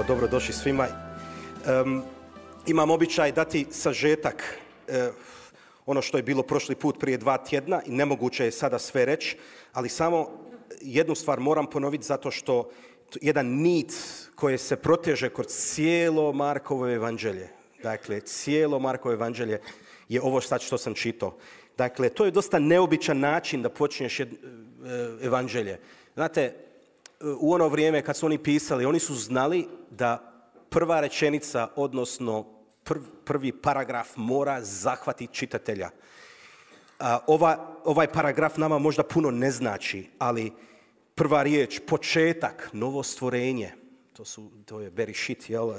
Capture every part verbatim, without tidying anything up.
dobrodošli svima. Um, imam običaj dati sažetak, uh, ono što je bilo prošli put prije dva tjedna i nemoguće je sada sve reći, ali samo jednu stvar moram ponoviti zato što jedan nit koji se proteže kroz cijelo Markovo evanđelje, dakle cijelo Markovo evanđelje je ovo sad što sam čitao. Dakle, to je dosta neobičan način da počneš jed, evanđelje. Znate, u ono vrijeme kad su oni pisali, oni su znali da prva rečenica, odnosno prv, prvi paragraf mora zahvatiti čitatelja. A, ova, ovaj paragraf nama možda puno ne znači, ali prva riječ, početak, novo stvorenje, to, su, to je berešit, jel,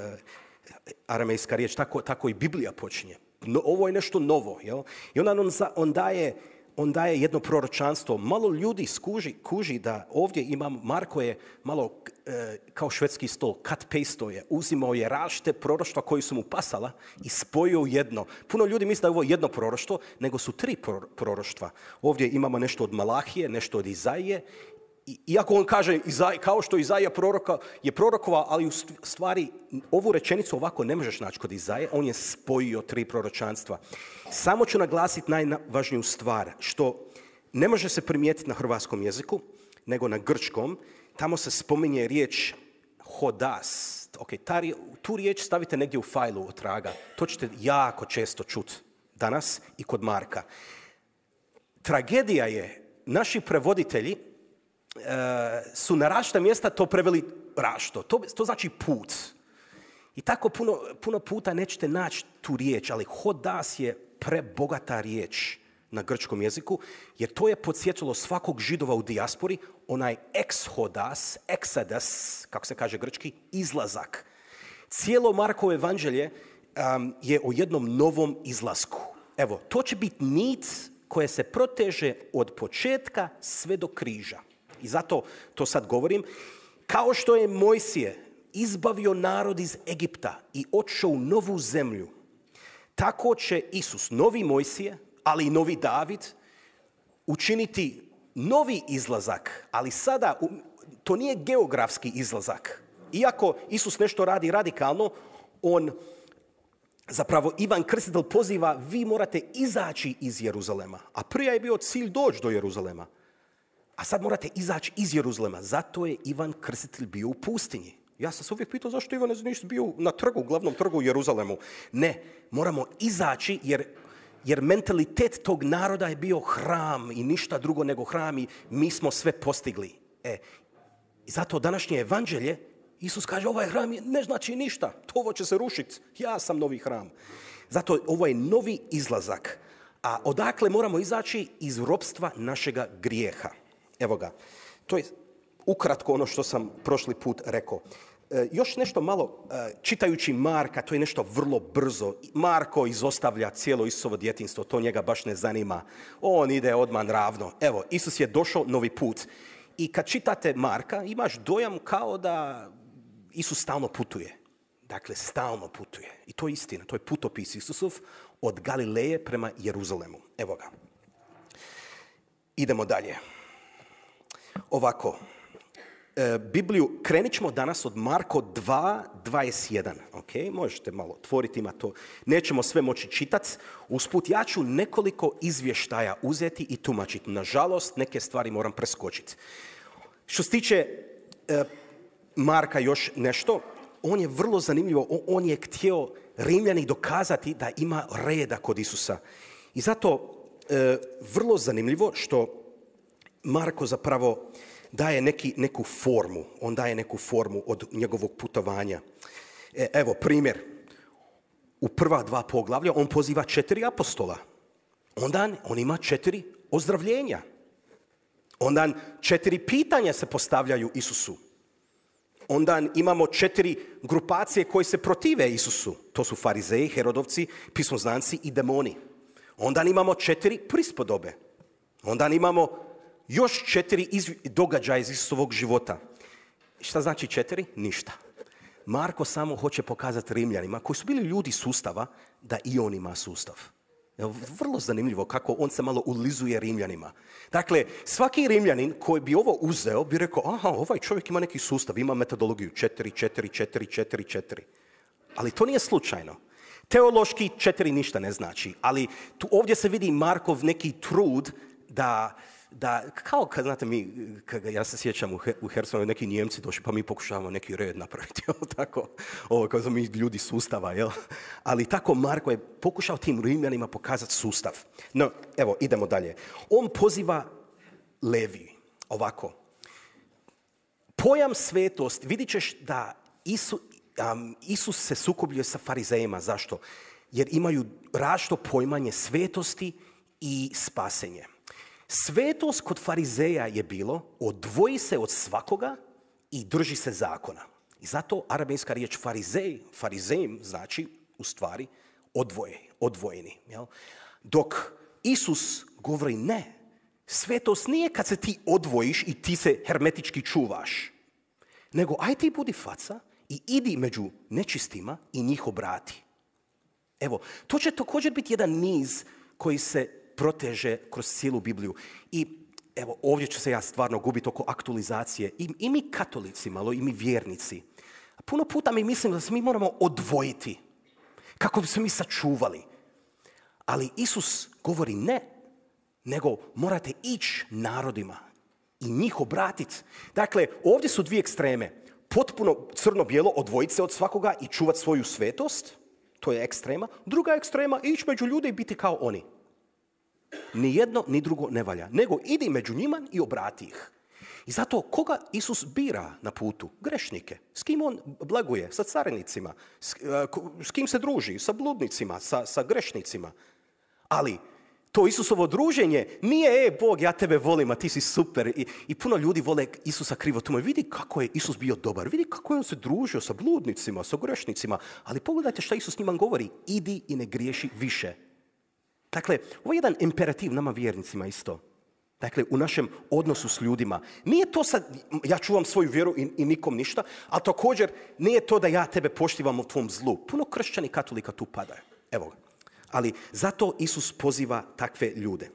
aramejska riječ, tako, tako i Biblija počinje. No, ovo je nešto novo, jel? I onda on, on, daje, on daje jedno proročanstvo. Malo ljudi skuži, kuži da ovdje imam, Marko je malo e, kao švedski stol, cut-paste je, uzimao je različite proroštva koji su mu pasala i spojio jedno. Puno ljudi misle da je ovo jedno proroštvo, nego su tri proroštva. Ovdje imamo nešto od Malahije, nešto od Izaije. Iako on kaže, kao što Izaija proroka, je prorokova, ali u stvari ovu rečenicu ovako ne možeš naći kod Izaije, on je spojio tri proročanstva. Samo ću naglasiti najvažniju stvar, što ne može se primijetiti na hrvatskom jeziku, nego na grčkom. Tamo se spominje riječ hodas. Okay, ta, tu riječ stavite negdje u fajlu od traga. To ćete jako često čuti danas i kod Marka. Tragedija je, naši prevoditelji Uh, su na različita mjesta to preveli rašto. To, to znači put. I tako puno, puno puta nećete naći tu riječ, ali hodas je prebogata riječ na grčkom jeziku, jer to je podsjetilo svakog Židova u dijaspori, onaj exhodas, exodus, kako se kaže grčki, izlazak. Cijelo Markovo evanđelje um, je o jednom novom izlasku. Evo, to će biti nit koja se proteže od početka sve do križa. I zato to sad govorim. Kao što je Mojsije izbavio narod iz Egipta i otišao u novu zemlju, tako će Isus, novi Mojsije, ali i novi David, učiniti novi izlazak. Ali sada to nije geografski izlazak. Iako Isus nešto radi radikalno, on, zapravo Ivan Krstitelj poziva, vi morate izaći iz Jeruzalema. A prije je bio cilj doći do Jeruzalema. A sad morate izaći iz Jeruzalema. Zato je Ivan Krstitelj bio u pustinji. Ja sam se uvijek pitao zašto Ivan nisi bio na trgu, glavnom trgu u Jeruzalemu. Ne, moramo izaći jer, jer mentalitet tog naroda je bio hram i ništa drugo nego hram i mi smo sve postigli. E, i zato današnje evanđelje, Isus kaže ovaj hram ne znači ništa, to ovo će se rušiti, ja sam novi hram. Zato ovo je novi izlazak. A odakle moramo izaći? Iz ropstva našega grijeha. Evo ga, to je ukratko ono što sam prošli put rekao. E, još nešto malo, e, čitajući Marka, to je nešto vrlo brzo. Marko izostavlja cijelo Isusovo djetinjstvo, to njega baš ne zanima. On ide odmah ravno. Evo, Isus je došao novi put. I kad čitate Marka, imaš dojam kao da Isus stalno putuje. Dakle, stalno putuje. I to je istina, to je putopis Isusov od Galileje prema Jeruzalemu. Evo ga. Idemo dalje. Ovako, e, Bibliju krenit ćemo danas od Marko dva, dvadeset jedan. Okay? Možete malo otvoriti, ima to. Nećemo sve moći čitati. Usput, ja ću nekoliko izvještaja uzeti i tumačiti. Nažalost, neke stvari moram preskočiti. Što se tiče e, Marka još nešto, on je vrlo zanimljivo. On je htio Rimljani dokazati da ima reda kod Isusa. I zato e, vrlo zanimljivo što Marko zapravo daje neki, neku formu. On daje neku formu od njegovog putovanja. E, evo, primjer. U prva dva poglavlja on poziva četiri apostola. Onda on ima četiri ozdravljenja. Onda četiri pitanja se postavljaju Isusu. Onda imamo četiri grupacije koje se protive Isusu. To su farizeji, herodovci, pismoznanci i demoni. Onda imamo četiri prispodobe. Onda imamo još četiri izv... događaja iz Isusovog života. Šta znači četiri? Ništa. Marko samo hoće pokazati Rimljanima, koji su bili ljudi sustava, da i on ima sustav. Vrlo zanimljivo kako on se malo ulizuje Rimljanima. Dakle, svaki Rimljanin koji bi ovo uzeo bi rekao, aha, ovaj čovjek ima neki sustav, ima metodologiju četiri, četiri, četiri, četiri, četiri. Ali to nije slučajno. Teološki četiri ništa ne znači, ali tu ovdje se vidi Markov neki trud da, da kao kad, znate, mi, kad, ja se sjećam u, Her, u Hersonu, neki Njemci došli, pa mi pokušavamo neki red napraviti, jel, tako, ovo, kao smo mi ljudi sustava, jel, ali tako Marko je pokušao tim Rimljanima pokazati sustav. No, evo, idemo dalje. On poziva Levi, ovako, pojam svetost, vidit ćeš da Isu, um, Isus se sukobljuje sa farizejima. Zašto? Jer imaju različito poimanje svetosti i spasenje. Svetost kod farizeja je bilo odvoji se od svakoga i drži se zakona. I zato arabijska riječ farizej, farizejim znači u stvari odvoje, odvojeni. Jel? Dok Isus govori ne, svetost nije kad se ti odvojiš i ti se hermetički čuvaš, nego aj ti budi faca i idi među nečistima i njih obrati. Evo, to će također biti jedan niz koji se proteže kroz cijelu Bibliju. I evo, ovdje ću se ja stvarno gubiti oko aktualizacije. I, i mi katolici malo, i mi vjernici. Puno puta mi mislimo da se mi moramo odvojiti kako bi se mi sačuvali. Ali Isus govori ne, nego morate ići narodima i njih obratiti. Dakle, ovdje su dvije ekstreme. Potpuno crno-bijelo, odvojiti se od svakoga i čuvati svoju svetost. To je ekstrema. Druga ekstrema, ići među ljude i biti kao oni. Ni jedno, ni drugo ne valja. Nego idi među njima i obrati ih. I zato koga Isus bira na putu? Grešnike. S kim on blaguje? Sa carinicima. S, s kim se druži? Sa bludnicima, sa, sa grešnicima. Ali to Isusovo druženje nije, e, Bog, ja tebe volim, a ti si super. I, i puno ljudi vole Isusa krivo tumačiti. Vidi kako je Isus bio dobar. Vidi kako je on se družio sa bludnicima, sa grešnicima. Ali pogledajte šta Isus njima govori. Idi i ne griješi više. Dakle, ovo je jedan imperativ nama vjernicima isto. Dakle, u našem odnosu s ljudima. Nije to sad, ja čuvam svoju vjeru i, i nikom ništa, ali također nije to da ja tebe poštivam u tvom zlu. Puno kršćani katolika tu padaju. Evo ga. Ali zato Isus poziva takve ljude.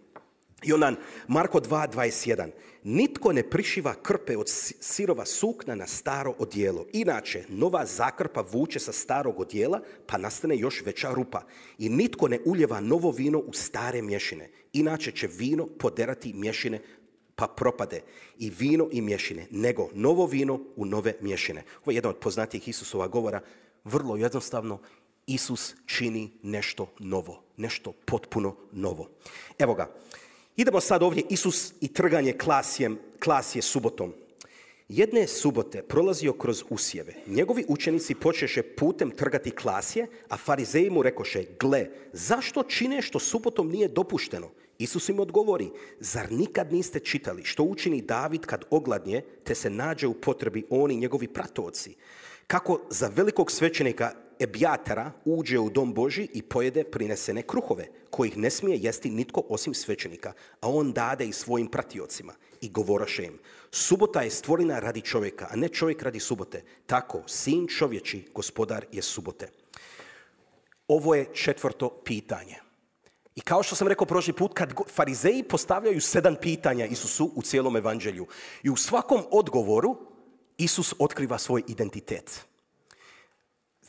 I ondan, Marko dva dvadeset jedan. Nitko ne prišiva krpe od sirova sukna na staro odijelo. Inače, nova zakrpa vuče sa starog odijela, pa nastane još veća rupa. I nitko ne uljeva novo vino u stare mješine. Inače će vino poderati mješine, pa propade. I vino i mješine, nego novo vino u nove mješine. Ovo je jedan od poznatijih Isusova govora. Vrlo jednostavno, Isus čini nešto novo. Nešto potpuno novo. Evo ga. Idemo sad ovdje, Isus i trganje klasjem, klasje subotom. Jedne subote prolazio kroz usjeve. Njegovi učenici počeše putem trgati klasje, a farizeji mu rekoše, gle, zašto čine što subotom nije dopušteno? Isus im odgovori, zar nikad niste čitali što učini David kad ogladnje, te se nađe u potrebi on i njegovi pratoci? Kako za velikog svećenika Ebjatara uđe u dom Božji i pojede prinesene kruhove, kojih ne smije jesti nitko osim svećenika, a on dade i svojim pratiocima. I govoraše im, subota je stvorena radi čovjeka, a ne čovjek radi subote. Tako, sin čovječi, gospodar je subote. Ovo je četvrto pitanje. I kao što sam rekao prošli put, kad farizeji postavljaju sedam pitanja Isusu u cijelom evanđelju, i u svakom odgovoru Isus otkriva svoj identitet.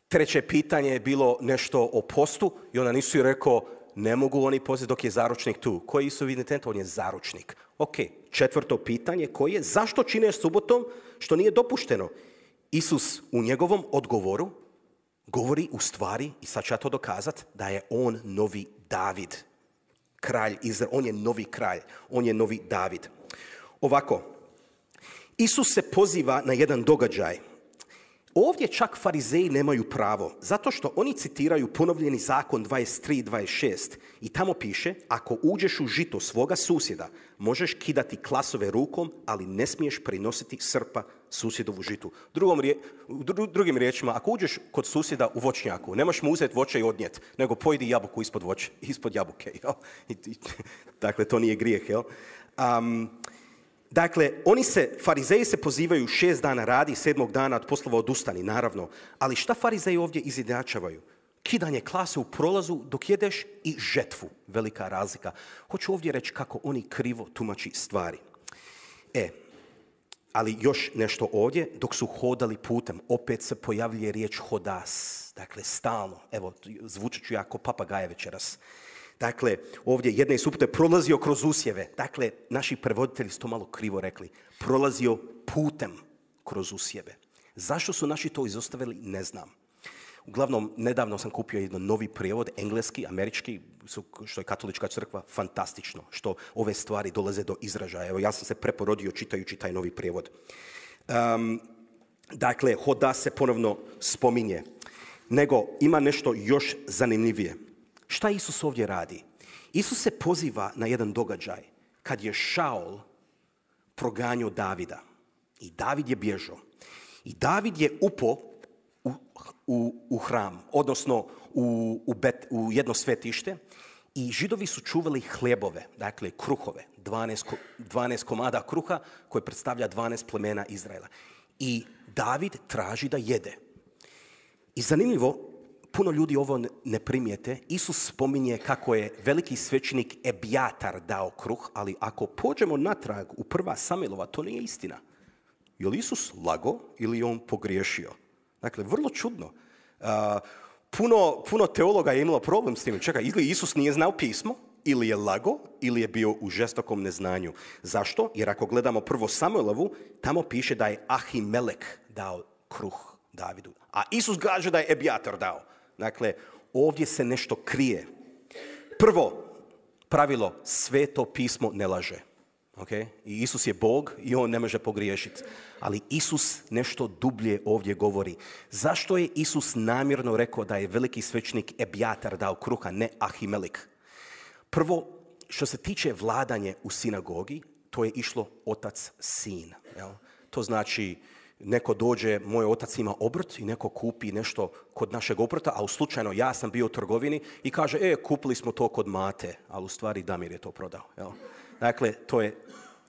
Treće pitanje je bilo nešto o postu i onda nisu rekao, ne mogu oni postiti dok je zaručnik tu. Koji je Isusov identitet? On je zaručnik. Ok, četvrto pitanje koje je, zašto čine subotom što nije dopušteno? Isus u njegovom odgovoru govori u stvari, i sad ću ja to dokazati, da je on novi David. Kralj Izrael, on je novi kralj, on je novi David. Ovako, Isus se poziva na jedan događaj. Ovdje čak farizeji nemaju pravo, zato što oni citiraju ponovljeni zakon dvadeset tri dvadeset šest i tamo piše, ako uđeš u žito svoga susjeda, možeš kidati klasove rukom, ali ne smiješ prinositi srpa susjedovu žitu. Drugom rije, dru, drugim riječima, ako uđeš kod susjeda u voćnjaku, nemaš mu uzeti voće i odnijeti, nego pojedi jabuku ispod, voće, ispod jabuke. Jel? I, i, dakle, to nije grijeh. Jel? Um, Dakle, oni se, farizeji se pozivaju šest dana radi, sedmog dana od poslova odustani, naravno. Ali šta farizeji ovdje izjednačavaju? kidanje klase u prolazu dok jedeš i žetvu. Velika razlika. Hoću ovdje reći kako oni krivo tumači stvari. E, ali još nešto ovdje, dok su hodali putem, opet se pojavljuje riječ hodas. Dakle, stalno. Evo, zvučat ću ja ko papagaje večeras. Dakle, ovdje jedne i supute prolazio kroz usjeve. Dakle, naši prevoditelji su to malo krivo rekli. Prolazio putem kroz usjeve. Zašto su naši to izostavili, ne znam. Uglavnom, nedavno sam kupio jedan novi prijevod, engleski, američki, što je katolička crkva, fantastično, što ove stvari dolaze do izražaja. Evo, ja sam se preporodio čitajući taj novi prijevod. Um, dakle, hoda se ponovno spominje. Nego, ima nešto još zanimljivije. Šta Isus ovdje radi? Isus se poziva na jedan događaj kad je Šaul proganjao Davida. I David je bježao. I David je upao u, u, u hram, odnosno u, u, bet, u jedno svetište i Židovi su čuvali hljebove, dakle kruhove, dvanaest, dvanaest komada kruha koje predstavlja dvanaest plemena Izraela. I David traži da jede. I zanimljivo, puno ljudi ovo ne primijete, Isus spominje kako je veliki svećenik Ebjatar dao kruh, ali ako pođemo natrag u prva Samuelova, to nije istina. Je li Isus lago ili je on pogriješio? Dakle, vrlo čudno. Uh, puno, puno teologa je imalo problem s tim. Čekaj, ili Isus nije znao pismo, ili je lago, ili je bio u žestokom neznanju. Zašto? Jer ako gledamo prvo Samuelovu, tamo piše da je Ahimelek dao kruh Davidu. A Isus kaže da je Ebjatar dao. Dakle, ovdje se nešto krije. Prvo pravilo, sveto pismo ne laže. Okay? I Isus je Bog i on ne može pogriješiti. Ali Isus nešto dublje ovdje govori. Zašto je Isus namjerno rekao da je veliki svećenik Ebjatar dao kruha, ne Ahimelek? Prvo, što se tiče vladanje u sinagogi, to je išlo otac-sin. Jel? To znači, neko dođe, moj otac ima obrt i neko kupi nešto kod našeg obrta, a u slučajno ja sam bio u trgovini i kaže, e, kupili smo to kod Mate, ali u stvari Damir je to prodao. Jel? Dakle, to je,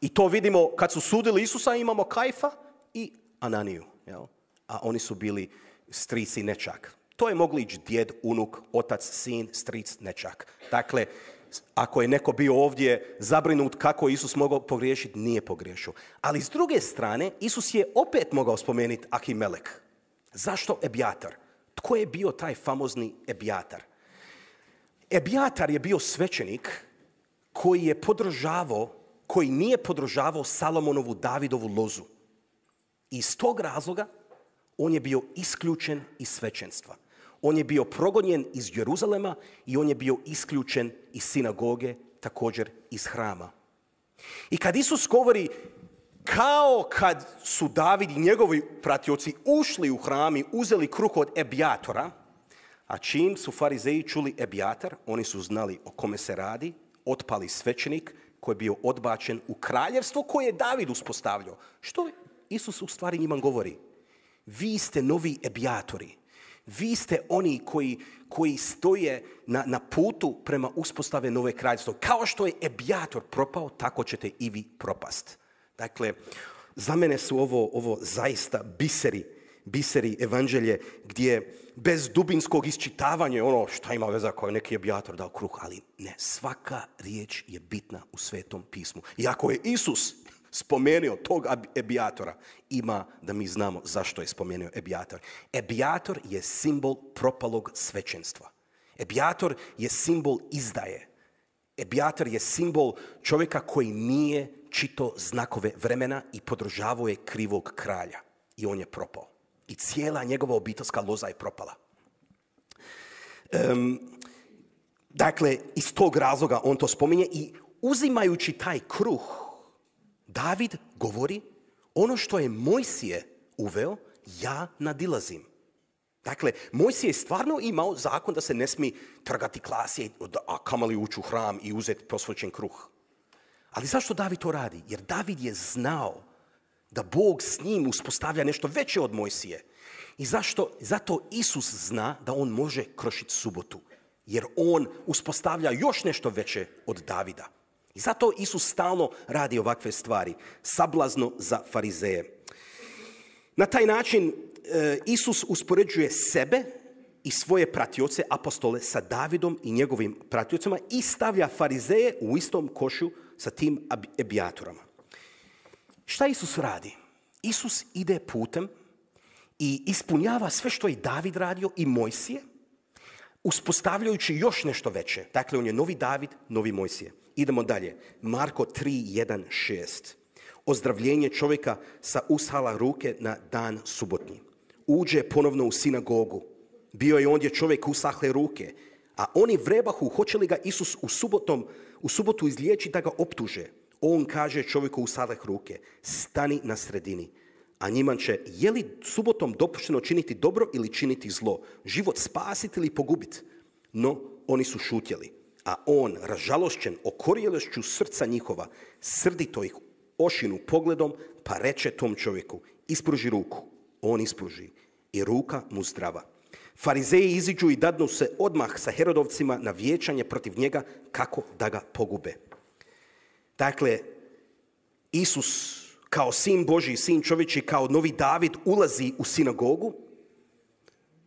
i to vidimo kad su sudili Isusa, imamo Kajfa i Ananiju, jel? A oni su bili stric i nečak. To je mogli ići djed, unuk, otac, sin, stric, nečak. Dakle, ako je neko bio ovdje zabrinut kako Isus mogao pogriješiti, nije pogriješio. Ali s druge strane, Isus je opet mogao spomenuti Ahimelek. Zašto Ebjatar? Tko je bio taj famozni Ebjatar? Ebjatar je bio svećenik koji je podržavao, koji nije podržavao Salomonovu Davidovu lozu. I iz tog razloga on je bio isključen iz svećenstva. On je bio progonjen iz Jeruzalema i on je bio isključen iz sinagoge, također iz hrama. I kad Isus govori kao kad su David i njegovi pratioci ušli u hram i uzeli kruh od Ebjatora, a čim su farizeji čuli Ebjatar, oni su znali o kome se radi, otpali svećenik koji je bio odbačen u kraljevstvo koje je David uspostavljao. Što Isus u stvari njima govori? Vi ste novi Ebjatori. Vi ste oni koji, koji stoje na, na putu prema uspostave nove kraljevstva. Kao što je Ebjator propao, tako ćete i vi propast. Dakle, za mene su ovo, ovo zaista biseri, biseri evanđelje gdje bez dubinskog isčitavanja ono šta ima veza kao neki Ebjator dao kruh, ali ne, svaka riječ je bitna u Svetom pismu. I ako je Isus spomenuo tog Ebjatora, ima da mi znamo zašto je spomenuo Ebjator. Ebjator je simbol propalog svećenstva. Ebjator je simbol izdaje. Ebjator je simbol čovjeka koji nije čitao znakove vremena i podržavao je krivog kralja. I on je propao. I cijela njegova obiteljska loza je propala. Um, dakle, iz tog razloga on to spominje i uzimajući taj kruh, David govori, ono što je Mojsije uveo, ja nadilazim. Dakle, Mojsije je stvarno imao zakon da se ne smije trgati klasije, a kamali ući u hram i uzeti posvećen kruh. Ali zašto David to radi? Jer David je znao da Bog s njim uspostavlja nešto veće od Mojsije. I zašto? Zato Isus zna da on može krošiti subotu. Jer on uspostavlja još nešto veće od Davida. I zato Isus stalno radi ovakve stvari. Sablazno za farizeje. Na taj način e, Isus uspoređuje sebe i svoje pratioce, apostole, sa Davidom i njegovim pratiocima i stavlja farizeje u istom košu sa tim ebijatorama. Šta Isus radi? Isus ide putem i ispunjava sve što je David radio i Mojsije, uspostavljajući još nešto veće. Dakle, on je novi David, novi Mojsije. Idemo dalje. Marko tri, jedan, šest. Ozdravljenje čovjeka sa ushala ruke na dan subotnji. Uđe ponovno u sinagogu. Bio je ondje čovjek usahle ruke, a oni vrebahu hoće li ga Isus u, subotom, u subotu izliječiti da ga optuže. On kaže čovjeku usahleh ruke, stani na sredini. A njima će, je li subotom dopušteno činiti dobro ili činiti zlo? Život spasiti ili pogubiti? No, oni su šutjeli. A on, ražalošćen okorjelošću srca njihova, srdito ih ošinu pogledom, pa reče tom čovjeku, ispruži ruku. On ispruži i ruka mu zdrava. Farizeji iziđu i dadnu se odmah sa Herodovcima na vijećanje protiv njega kako da ga pogube. Dakle, Isus kao sin Božji, sin čovječji, kao novi David ulazi u sinagogu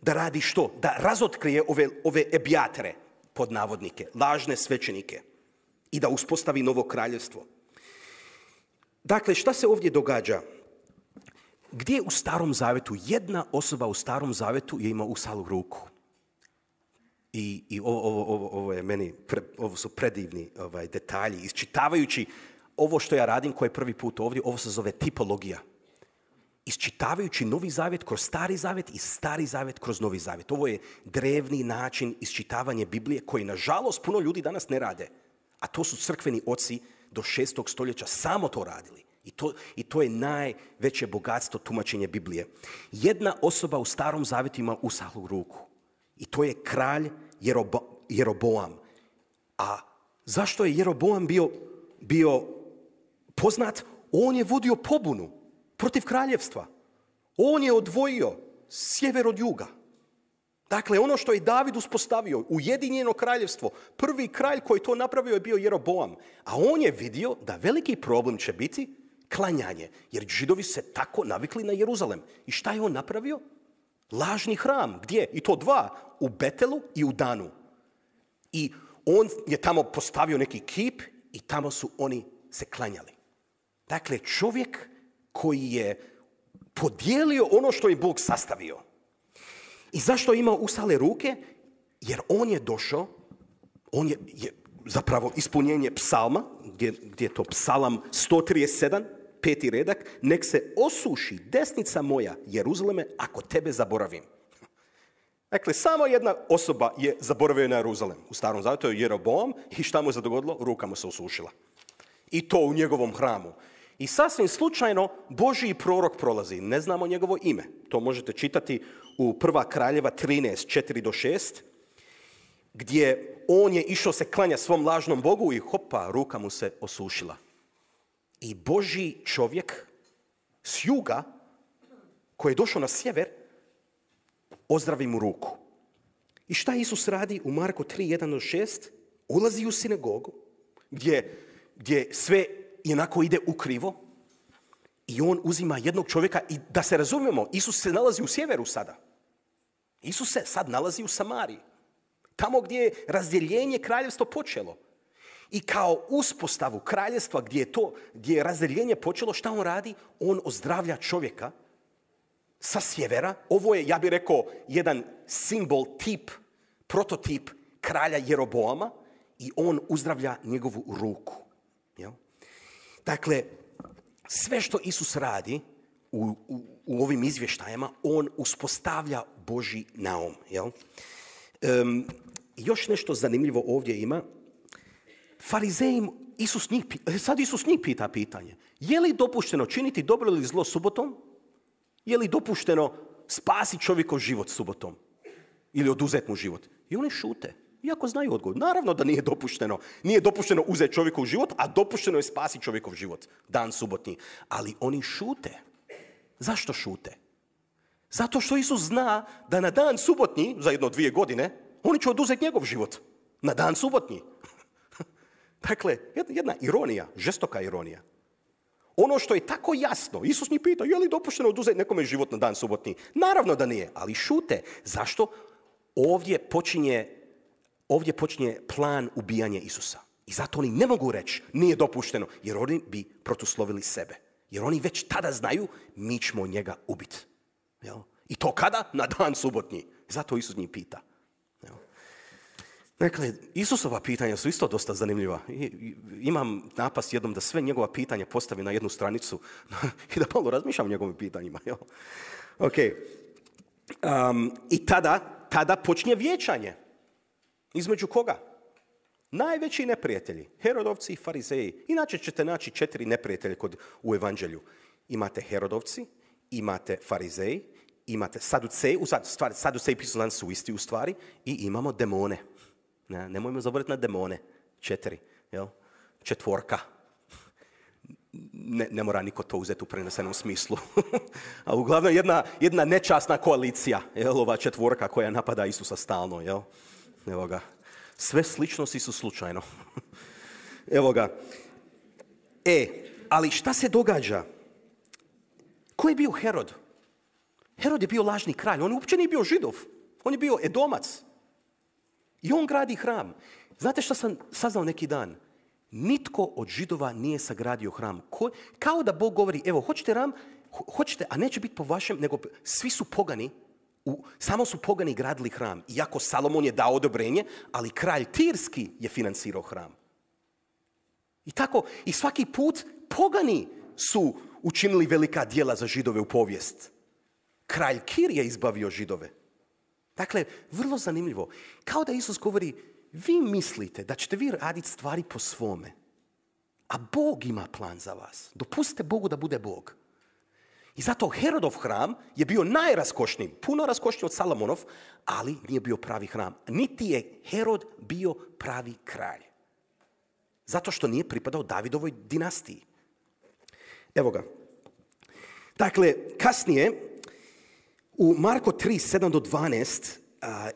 da radi što? Da razotkrije ove, ove ebijatore, pod navodnike, lažne svećenike i da uspostavi novo kraljevstvo. Dakle, šta se ovdje događa? Gdje u Starom Zavetu, jedna osoba u Starom Zavetu je imala usahlu ruku? I, i ovo, ovo, ovo, ovo, je meni, pre, ovo su predivni ovaj, detalji. Isčitavajući ovo što ja radim, koji je prvi put ovdje, ovo se zove tipologija. Isčitavajući Novi Zavet kroz Stari Zavet i Stari Zavet kroz Novi Zavet. Ovo je drevni način isčitavanja Biblije koji, nažalost, puno ljudi danas ne rade. A to su crkveni oci do šestog stoljeća samo to radili. I to, I to je najveće bogatstvo tumačenja Biblije. Jedna osoba u Starom Zavetu ima usahlu ruku. I to je kralj Jerobo, Jeroboam. A zašto je Jeroboam bio, bio poznat? On je vodio pobunu protiv kraljevstva. On je odvojio sjever od juga. Dakle, ono što je David uspostavio, ujedinjeno kraljevstvo, prvi kralj koji to napravio je bio Jeroboam. A on je vidio da veliki problem će biti klanjanje, jer Židovi se tako navikli na Jeruzalem. I šta je on napravio? Lažni hram. Gdje? I to dva. U Betelu i u Danu. I on je tamo postavio neki kip i tamo su oni se klanjali. Dakle, čovjek koji je podijelio ono što je Bog sastavio. I zašto je imao usahle ruke? Jer on je došao, on je, je zapravo ispunjenje psalma, gdje, gdje je to psalam sto trideset sedam, peti redak, nek se osuši desnica moja, Jeruzaleme, ako tebe zaboravim. Dakle, samo jedna osoba je zaboravio na Jeruzalem. U Starom Zavetu je Jeroboam i šta mu se dogodilo? Ruka mu se osušila. I to u njegovom hramu. I sasvim slučajno Božji prorok prolazi. Ne znamo njegovo ime. To možete čitati u Prva Kraljeva trinaest, četiri do šest, gdje on je išao se klanja svom lažnom Bogu i hopa, ruka mu se osušila. I Božji čovjek s juga, koji je došao na sjever, ozdravi mu ruku. I šta Isus radi u Marko tri, jedan do šest? Ulazi u sinagogu, gdje, gdje sve jednako ide ukrivo i on uzima jednog čovjeka i da se razumijemo, Isus se nalazi u sjeveru sada. Isus se sad nalazi u Samariji. Tamo gdje je razdjeljenje kraljevstva počelo. I kao uspostavu kraljevstva gdje je, to, gdje je razdjeljenje počelo, šta on radi? On ozdravlja čovjeka sa sjevera. Ovo je, ja bih rekao, jedan simbol, tip, prototip kralja Jeroboama i on uzdravlja njegovu ruku. Jel? Dakle, sve što Isus radi u, u, u ovim izvještajima, on uspostavlja Božji naum. Jel? Um, još nešto zanimljivo ovdje ima. Farizeji, Isus njih, sad Isus njih pita pitanje. Je li dopušteno činiti dobro ili zlo subotom? Je li dopušteno spasiti čovjekov život subotom? Ili oduzeti mu život? I oni šute. Iako znaju odgovor. Naravno da nije dopušteno. Nije dopušteno uzeti čovjekov život, a dopušteno je spasiti čovjekov život. Dan subotni. Ali oni šute. Zašto šute? Zato što Isus zna da na dan subotnji, za jedno dvije godine, oni će oduzeti njegov život. Na dan subotnji. Dakle, jedna ironija, žestoka ironija. Ono što je tako jasno, Isus njih pita, je li dopušteno oduzeti nekome život na dan subotni? Naravno da nije, ali šute. Zašto? ovdje počinje, ovdje počinje plan ubijanja Isusa. I zato oni ne mogu reći nije dopušteno, jer oni bi protuslovili sebe. Jer oni već tada znaju mi ćemo njega ubiti. Jel? I to kada? Na dan subotnji. Zato Isus njih pita. Jel? Dakle, Isusova pitanja su isto dosta zanimljiva. I, i, imam napast jednom da sve njegova pitanja postavi na jednu stranicu i da malo razmišljam o njegovim pitanjima. Jel? Ok. Um, I tada, tada počinje vijećanje. Između koga? Najveći neprijatelji, Herodovci i Farizeji. Inače ćete naći četiri neprijatelje kod, u evanđelju. Imate Herodovci, imate Farizeji, imate Saduceji, u stvari, Saduceji pisani su isti u stvari, i imamo demone. Ne, nemojmo zaboraviti na demone. Četiri, jel? Četvorka. Ne, ne mora niko to uzeti u prenesenom smislu. A uglavnom jedna, jedna nečasna koalicija, jel? Ova četvorka koja napada Isusa stalno, jel? Evo ga. Sve sličnosti su slučajno. Evo ga. E, ali šta se događa? Ko je bio Herod? Herod je bio lažni kralj. On uopće nije bio Židov. On je bio Edomac. I on gradi hram. Znate šta sam saznao neki dan? Nitko od Židova nije sagradio hram. Ko, kao da Bog govori, evo, hoćete hram? Ho, hoćete, a neće biti po vašem, nego svi su pogani. U, samo su pogani gradili hram. Iako Salomon je dao odobrenje, ali kralj Tirski je financirao hram. I tako, i svaki put pogani su učinili velika djela za Židove u povijest. Kralj Kir je izbavio Židove. Dakle, vrlo zanimljivo. Kao da Isus govori, vi mislite da ćete vi raditi stvari po svome, a Bog ima plan za vas. Dopustite Bogu da bude Bog. I zato Herodov hram je bio najraskošniji, puno raskošniji od Salomonov, ali nije bio pravi hram. Niti je Herod bio pravi kralj. Zato što nije pripadao Davidovoj dinastiji. Evo ga. Dakle, kasnije, u Marko tri, sedam do dvanaest,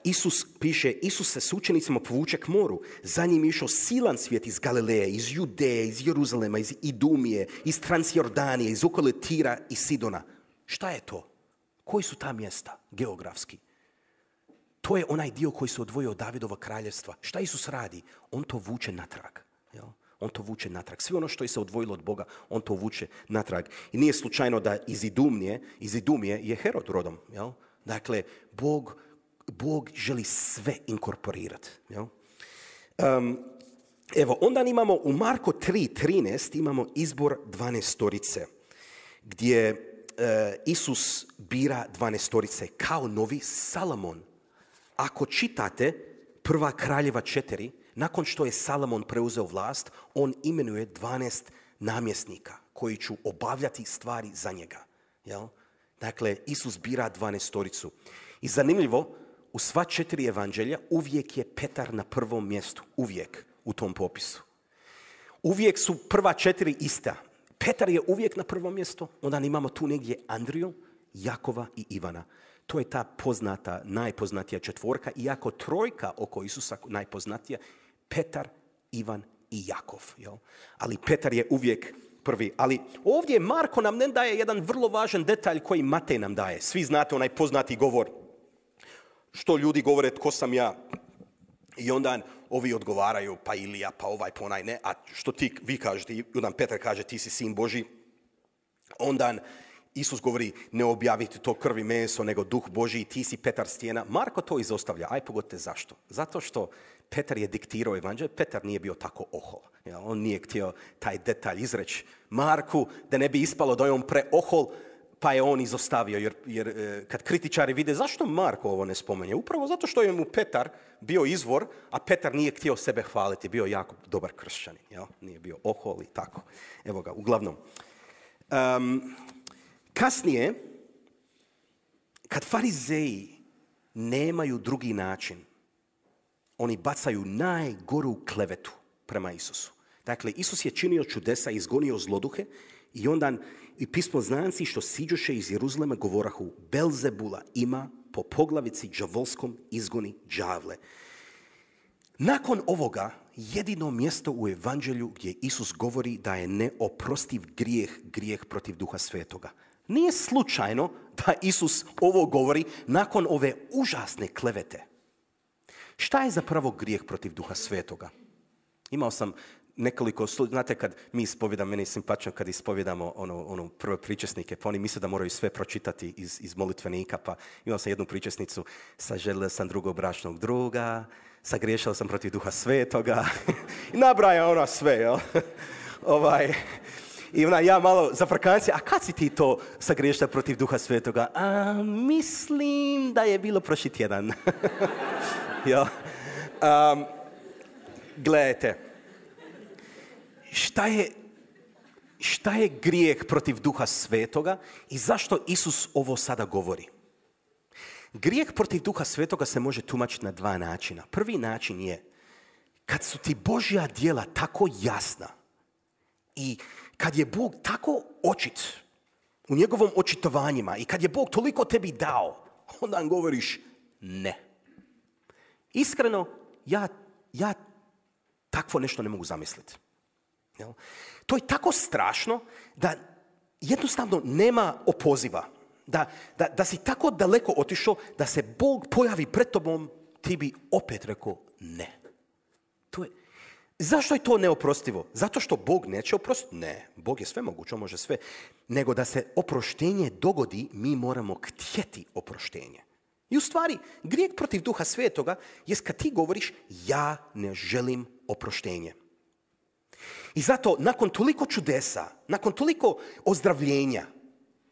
Isus piše, Isus se s učenicima povuče k moru. Za njim je išao silan svijet iz Galileje, iz Judeje, iz Jeruzalema, iz Idumije, iz Transjordanije, iz okolo Tira i Sidona. Šta je to? Koji su ta mjesta geografski? To je onaj dio koji se odvojio od Davidova kraljevstva. Šta Isus radi? On to vuče natrag. Jel? On to vuče natrag. Sve ono što je se odvojilo od Boga, on to vuče natrag. I nije slučajno da iz Idumije, iz Idumije je Herod rodom. Jel? Dakle, Bog Bog želi sve inkorporirati. Um, evo, onda imamo u Marko tri, trinaest imamo izbor dvanaestorice, gdje uh, Isus bira dvanaestorice kao novi Salomon. Ako čitate Prva kraljeva četiri, nakon što je Salomon preuzeo vlast, on imenuje dvanaest namjesnika koji će obavljati stvari za njega. Jel? Dakle, Isus bira dvanaestoricu. I zanimljivo, u sva četiri evanđelja uvijek je Petar na prvom mjestu. Uvijek u tom popisu. Uvijek su prva četiri ista. Petar je uvijek na prvom mjestu. Onda imamo tu negdje Andriju, Jakova i Ivana. To je ta poznata, najpoznatija četvorka. Iako trojka oko Isusa najpoznatija, Petar, Ivan i Jakov. Jel? Ali Petar je uvijek prvi. Ali ovdje Marko nam ne daje jedan vrlo važan detalj koji Matej nam daje. Svi znate onaj poznati govor. Što ljudi govore, tko sam ja? I onda ovi odgovaraju, pa Ilija, pa ovaj, pa onaj, ne. A što ti, vi kažete, i onda Petar kaže, ti si sin Božji. Onda Isus govori, ne objaviti to krvi meso, nego duh Božji, ti si Petar stijena. Marko to izostavlja. Aj pogodite zašto? Zato što Petar je diktirao evanđelje. Petar nije bio tako ohol. Ja, on nije htio taj detalj izreći Marku, da ne bi ispalo da je on preohol, pa je on izostavio, jer, jer kad kritičari vide zašto Marko ovo ne spomenje, upravo zato što je mu Petar bio izvor, a Petar nije htio sebe hvaliti, bio jako dobar kršćanin, jel? Nije bio ohol i tako. Evo ga, uglavnom. Um, kasnije, kad farizeji nemaju drugi način, oni bacaju najgoru klevetu prema Isusu. Dakle, Isus je činio čudesa, izgonio zloduhe, i onda i pismoznanci što siđoše iz Jeruzalema govorahu, Belzebula ima po poglavici đavolskom izgoni đavle. Nakon ovoga, jedino mjesto u evanđelju gdje Isus govori da je neoprostiv grijeh, grijeh protiv Duha Svetoga. Nije slučajno da Isus ovo govori nakon ove užasne klevete. Šta je zapravo grijeh protiv Duha Svetoga? Imao sam nekoliko, znate kad mi ispovjedamo, meni je simpatično kad ispovjedamo ono, ono prve pričesnike, pa oni misle da moraju sve pročitati iz, iz molitvenika, pa imao sam jednu pričesnicu, saželio sam drugog bračnog druga, sagriješio sam protiv Duha Svetoga, i nabraja ona sve, jel? ovaj, I ona, ja malo za frkancije, a kad si ti to sagriješila protiv Duha Svetoga? A, mislim da je bilo prošli tjedan. jel? Um, gledajte, Šta je, šta je grijeh protiv Duha Svetoga i zašto Isus ovo sada govori? Grijeh protiv Duha Svetoga se može tumačiti na dva načina. Prvi način je kad su ti Božja djela tako jasna i kad je Bog tako očit u njegovom očitovanjima i kad je Bog toliko tebi dao, onda nam govoriš ne. Iskreno, ja, ja takvo nešto ne mogu zamisliti. Jel? To je tako strašno da jednostavno nema opoziva. Da, da, da si tako daleko otišao da se Bog pojavi pred tobom, ti bi opet rekao ne. To je, zašto je to neoprostivo? Zato što Bog neće oprostiti? Ne, Bog je sve moguće, on može sve. Nego da se oproštenje dogodi, mi moramo htjeti oproštenje. I u stvari, grijeh protiv Duha Svetoga jest kad ti govoriš ja ne želim oproštenje. I zato, nakon toliko čudesa, nakon toliko ozdravljenja,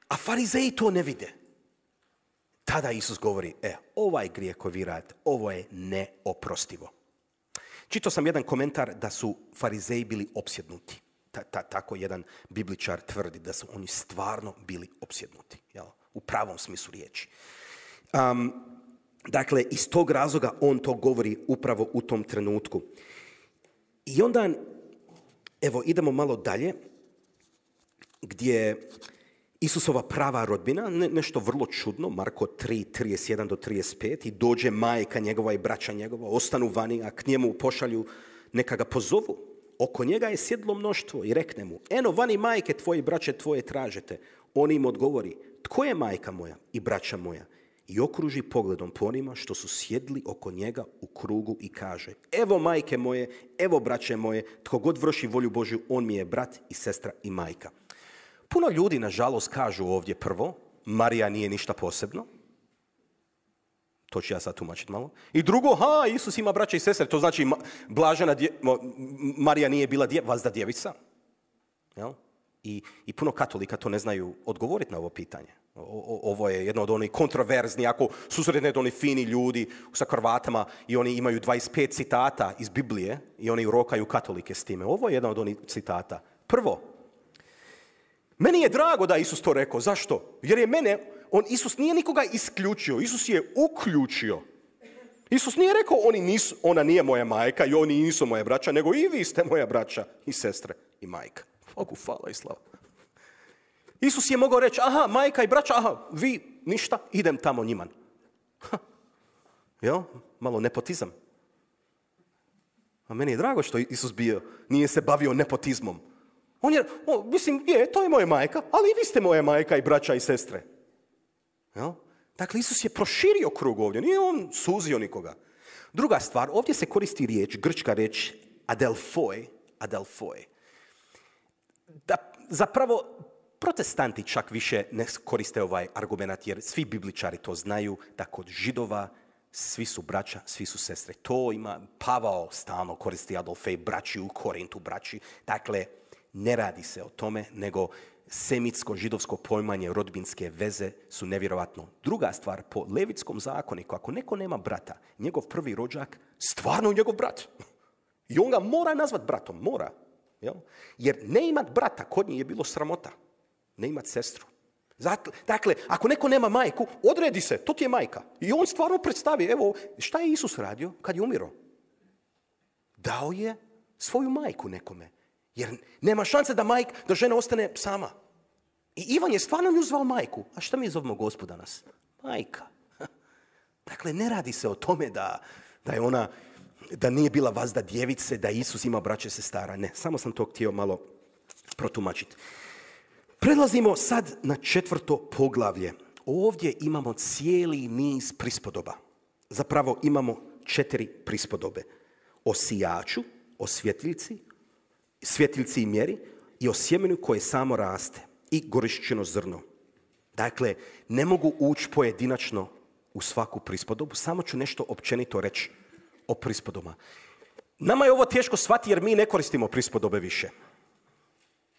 a farizeji to ne vide, tada Isus govori, e, ovaj grijeh koji vi radite, ovo je neoprostivo. Čitao sam jedan komentar da su farizeji bili opsjednuti. Ta, ta, tako jedan bibličar tvrdi da su oni stvarno bili opsjednuti, jel? U pravom smislu riječi. Um, dakle, iz tog razloga on to govori upravo u tom trenutku. I onda, evo, idemo malo dalje, gdje Isusova prava rodbina, ne, nešto vrlo čudno, Marko tri, trideset jedan do trideset pet, i dođe majka njegova i braća njegova, ostanu vani, a k njemu pošalju, neka ga pozovu. Oko njega je sjedlo mnoštvo i rekne mu, eno, vani majke tvoje i braće tvoje tražete. On im odgovori, tko je majka moja i braća moja? I okruži pogledom po onima što su sjedli oko njega u krugu i kaže, evo majke moje, evo braće moje, tko god vrši volju Božju, on mi je brat i sestra i majka. Puno ljudi, nažalost, kažu ovdje prvo, Marija nije ništa posebno. To ću ja sad tumačiti malo. I drugo, ha, Isus ima braća i sestre, to znači blažena dje, Marija nije bila dje, vazda djevica. Jel? I, I puno katolika to ne znaju odgovoriti na ovo pitanje. O, o, ovo je jedno od onih kontroverzni, ako susretne oni fini ljudi sa kravatama i oni imaju dvadeset pet citata iz Biblije i oni rokaju katolike s time. Ovo je jedan od onih citata. Prvo, meni je drago da Isus to rekao. Zašto? Jer je mene, on, Isus nije nikoga isključio, Isus je uključio. Isus nije rekao, oni nisu, ona nije moja majka i oni nisu moja braća, nego i vi ste moja braća i sestre i majka. Bogu hvala i slava. Isus je mogao reći, aha, majka i braća, aha, vi ništa, idem tamo njima. Ha. Jel? Malo nepotizam. A meni je drago što Isus bio, nije se bavio nepotizmom. On je, o, mislim, je, to je moja majka, ali i vi ste moja majka i braća i sestre. Jel? Dakle, Isus je proširio krug ovdje, nije on suzio nikoga. Druga stvar, ovdje se koristi riječ, grčka riječ, adelfoi, adelfoi. Da, zapravo, protestanti čak više ne koriste ovaj argument, jer svi bibličari to znaju, da kod Židova svi su braća, svi su sestre. To ima, Pavao stalno koristi adelfoi, braći u Korintu, braći. Dakle, ne radi se o tome, nego semitsko-židovsko pojmanje rodbinske veze su nevjerovatno. Druga stvar, po levitskom zakoniku, ako neko nema brata, njegov prvi rođak, stvarno je njegov brat. I on ga mora nazvat bratom, mora. Jel? Jer ne imat brata, kod njih je bilo sramota. Ne imat sestru. Dakle, ako neko nema majku, odredi se, to ti je majka. I on stvarno predstavi, evo, šta je Isus radio kad je umirao? Dao je svoju majku nekome. Jer nema šanse da, majk, da žena ostane sama. I Ivan je stvarno nju zvao majku. A šta mi zovemo Gospod danas? Majka. Dakle, ne radi se o tome da, da je ona, da nije bila vazda djevice, da Isus ima braće sestara. Ne, samo sam to htio malo protumačiti. Prelazimo sad na četvrto poglavlje. Ovdje imamo cijeli niz prispodoba. Zapravo imamo četiri prispodobe. O sijaču, o svjetiljci, svjetiljci i mjeri i o sjemenu koje samo raste i gorišćeno zrno. Dakle, ne mogu ući pojedinačno u svaku prispodobu, samo ću nešto općenito reći o prispodobama. Nama je ovo teško shvatiti jer mi ne koristimo prispodobe više.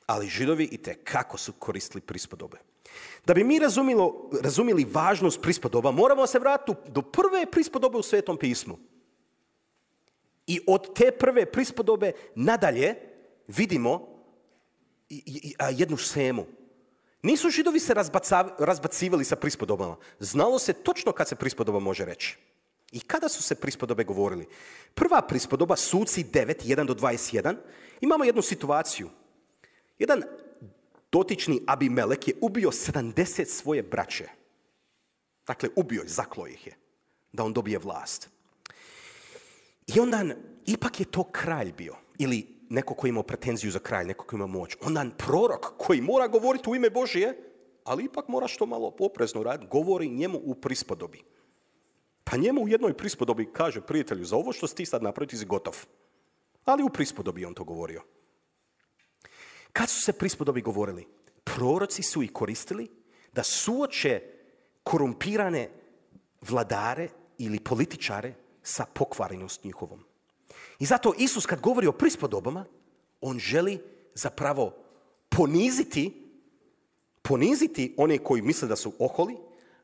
Ali Židovi itekako su koristili prispodobe. Da bi mi razumilo, razumili važnost prispodoba, moramo se vratiti do prve prispodobe u Svetom pismu. I od te prve prispodobe nadalje vidimo jednu šemu. Nisu Židovi se razbacivali sa prispodobama. Znalo se točno kad se prispodoba može reći. I kada su se prispodobe govorili? Prva prispodoba, Suci devet, jedan do dvadeset jedan, imamo jednu situaciju. Jedan dotični Abimelek je ubio sedamdeset svoje braće. Dakle, ubio je, zaklao ih je, da on dobije vlast. I onda, ipak je to kralj bio, ili neko koji ima pretenziju za kralj, neko koji ima moć. Onda prorok koji mora govoriti u ime Božije, ali ipak mora što malo oprezno raditi, govori njemu u prispodobi. Pa njemu u jednoj prispodobi kaže, prijatelju, za ovo što si ti sad napravio, ti si gotov. Ali u prispodobi on to govorio. Kad su se prispodobi govorili? Proroci su ih koristili da suoče korumpirane vladare ili političare sa pokvarenost njihovom. I zato Isus kad govori o prispodobama, on želi zapravo poniziti, poniziti one koji misle da su oholi,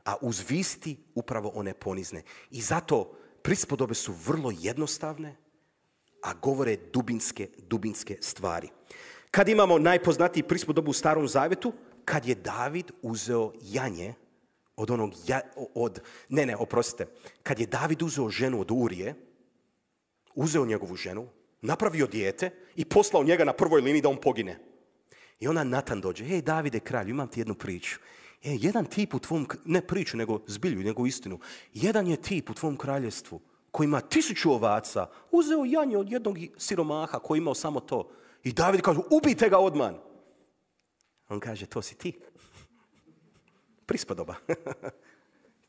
a uzvisiti upravo one ponizne. I zato prispodobe su vrlo jednostavne, a govore dubinske, dubinske stvari. Kad imamo najpoznatiji prispodobu u Starom Zavjetu, kad je David uzeo janje od onog, ja, od, ne, ne, oprostite, kad je David uzeo ženu od Urije, uzeo njegovu ženu, napravio dijete i poslao njega na prvoj liniji da on pogine. I onda Natan dođe, hej Davide kralju, imam ti jednu priču. E, jedan tip u tvom, ne priču, nego zbilju, nego istinu. Jedan je tip u tvom kraljevstvu koji ima tisuću ovaca, uzeo janje od jednog siromaha koji imao samo to. I David kaže, ubijte ga odmah. On kaže, to si ti. Prispodoba.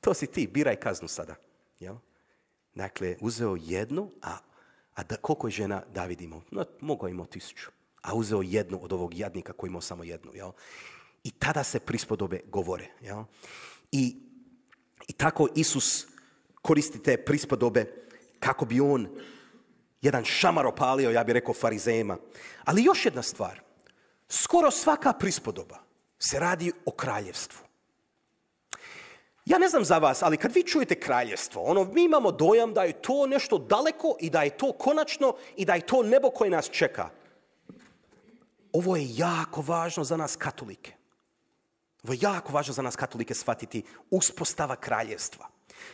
To si ti, biraj kaznu sada. Jel? Dakle, uzeo jednu, a, a da, koliko je žena David imao? No, mogao imao tisuću. A uzeo jednu od ovog jadnika koji imao samo jednu. Jel? I tada se prispodobe govore. Jel? I, I tako Isus koristi te prispodobe kako bi on jedan šamar opalio, ja bih rekao, farizejima. Ali još jedna stvar. Skoro svaka prispodoba se radi o kraljevstvu. Ja ne znam za vas, ali kad vi čujete kraljevstvo, ono, mi imamo dojam da je to nešto daleko i da je to konačno i da je to nebo koje nas čeka. Ovo je jako važno za nas katolike. Ovo je jako važno za nas katolike shvatiti uspostava kraljevstva.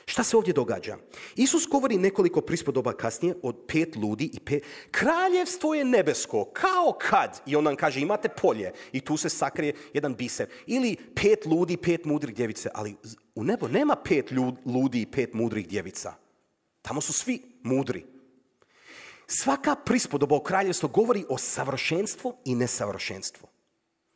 Šta se ovdje događa? Isus govori nekoliko prispodoba kasnije od pet ludi i pet. Kraljevstvo je nebesko, kao kad, i on nam kaže imate polje i tu se sakrije jedan biser. Ili pet ludi, pet mudrih djevice, ali u nebo nema pet ludi i pet mudrih djevica. Tamo su svi mudri. Svaka prispodoba o kraljevstvu govori o savršenstvu i nesavršenstvu.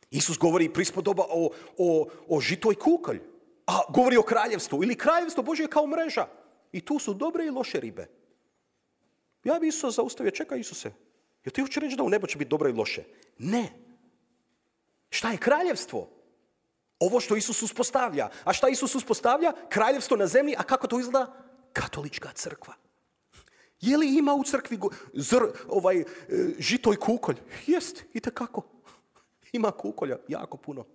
Isus govori prispodoba o, o, o žito i kukolj. A govori o kraljevstvu. Ili kraljevstvo Božje kao mreža. I tu su dobre i loše ribe. Ja bi Isusa zaustavio. Čekaj Isuse. Jel ti hoće reći da u nebo će biti dobro i loše? Ne. Šta je kraljevstvo? Ovo što Isus uspostavlja. A šta Isus uspostavlja? Kraljevstvo na zemlji. A kako to izgleda? Katolička crkva. Je li ima u crkvi zr, ovaj, žito i kukolj? Jest, itekako. Ima kukolja, jako puno.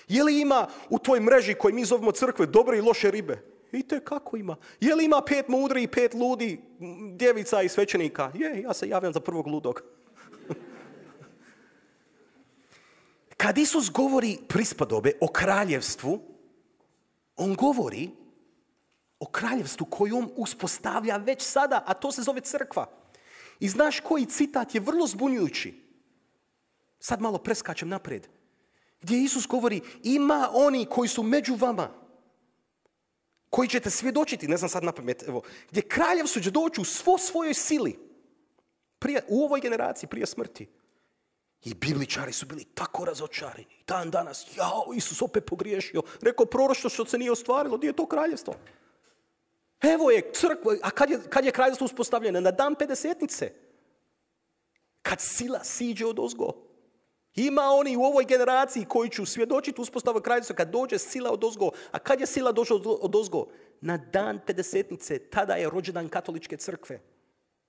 Je li ima u toj mreži koju mi zovemo crkve dobre i loše ribe? Itekako ima. Je li ima pet mudri i pet ludi, djevica i svećenika? Je, ja se javljam za prvog ludog. Kad Isus govori prispodobe o kraljevstvu, on govori o kraljevstvu koju on uspostavlja već sada, a to se zove crkva. I znaš koji citat je vrlo zbunjujući? Sad malo preskačem naprijed. Gdje Isus govori, ima oni koji su među vama, koji ćete svjedočiti, ne znam sad napamet, evo, gdje kraljevstvo će doći u svo svojoj sili, prije, u ovoj generaciji, prije smrti. I bibličari su bili tako razočarani. Dan danas, jao, Isus opet pogriješio. Rekao proroštvo što se nije ostvarilo, gdje je to kraljevstvo? Evo je crkva, a kad je, kad je kraljevstvo uspostavljeno? Na dan pedesetnice. Kad sila siđe od ozgo. Ima oni u ovoj generaciji koji će svjedočiti uspostavu kraljevstva kad dođe sila od ozgo. A kad je sila došla od ozgo? Na dan pedesetnice. Tada je rođendan katoličke crkve.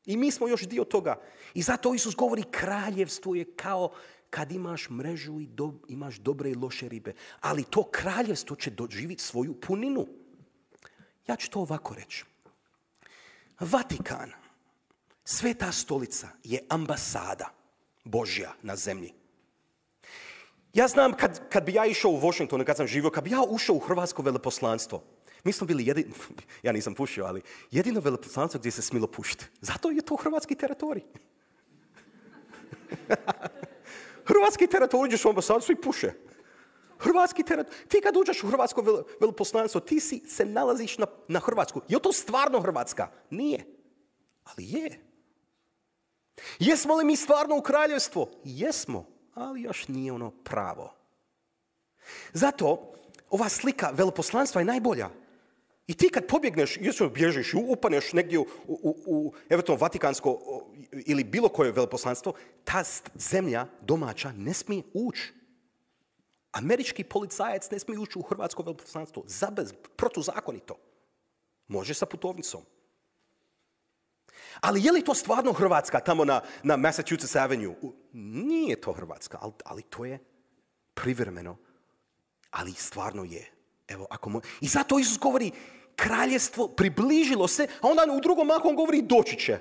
I mi smo još dio toga. I zato Isus govori kraljevstvo je kao kad imaš mrežu i do, imaš dobre i loše ribe. Ali to kraljevstvo će doživjeti svoju puninu. Ja ću to ovako reći. Vatikan, Sveta stolica, je ambasada Božja na zemlji. Ja znam kad, kad bi ja išao u Washington, kad sam živio, kad bi ja ušao u hrvatsko veleposlanstvo, mi smo bili jedini, ja nisam pušio, ali jedino veleposlanstvo gdje se smilo pušiti. Zato je to hrvatski teritorij. Hrvatski teritorij, uđeš u ambasadu, svi puše. Hrvatski teritorij. Ti kad uđeš u hrvatsko veleposlanstvo, ti si, se nalaziš na, na Hrvatsku. Je to stvarno Hrvatska? Nije. Ali je. Jesmo li mi stvarno u kraljevstvo? Jesmo, ali još nije ono pravo. Zato ova slika veleposlanstva je najbolja. I ti kad pobjegneš, jesmo bježiš, upaneš negdje u, u, u eventualno vatikansko ili bilo koje veleposlanstvo, ta zemlja domaća ne smije ući. Američki policajac ne smije ući u hrvatsko veleposlanstvo. Zabez, protuzakonito. Može sa putovnicom. Ali je li to stvarno Hrvatska tamo na, na Massachusetts Avenue? Nije to Hrvatska, ali, ali to je privremeno. Ali stvarno je. Evo, ako mo... I zato Isus govori, kraljevstvo približilo se, a onda u drugom mahu on govori, doći će.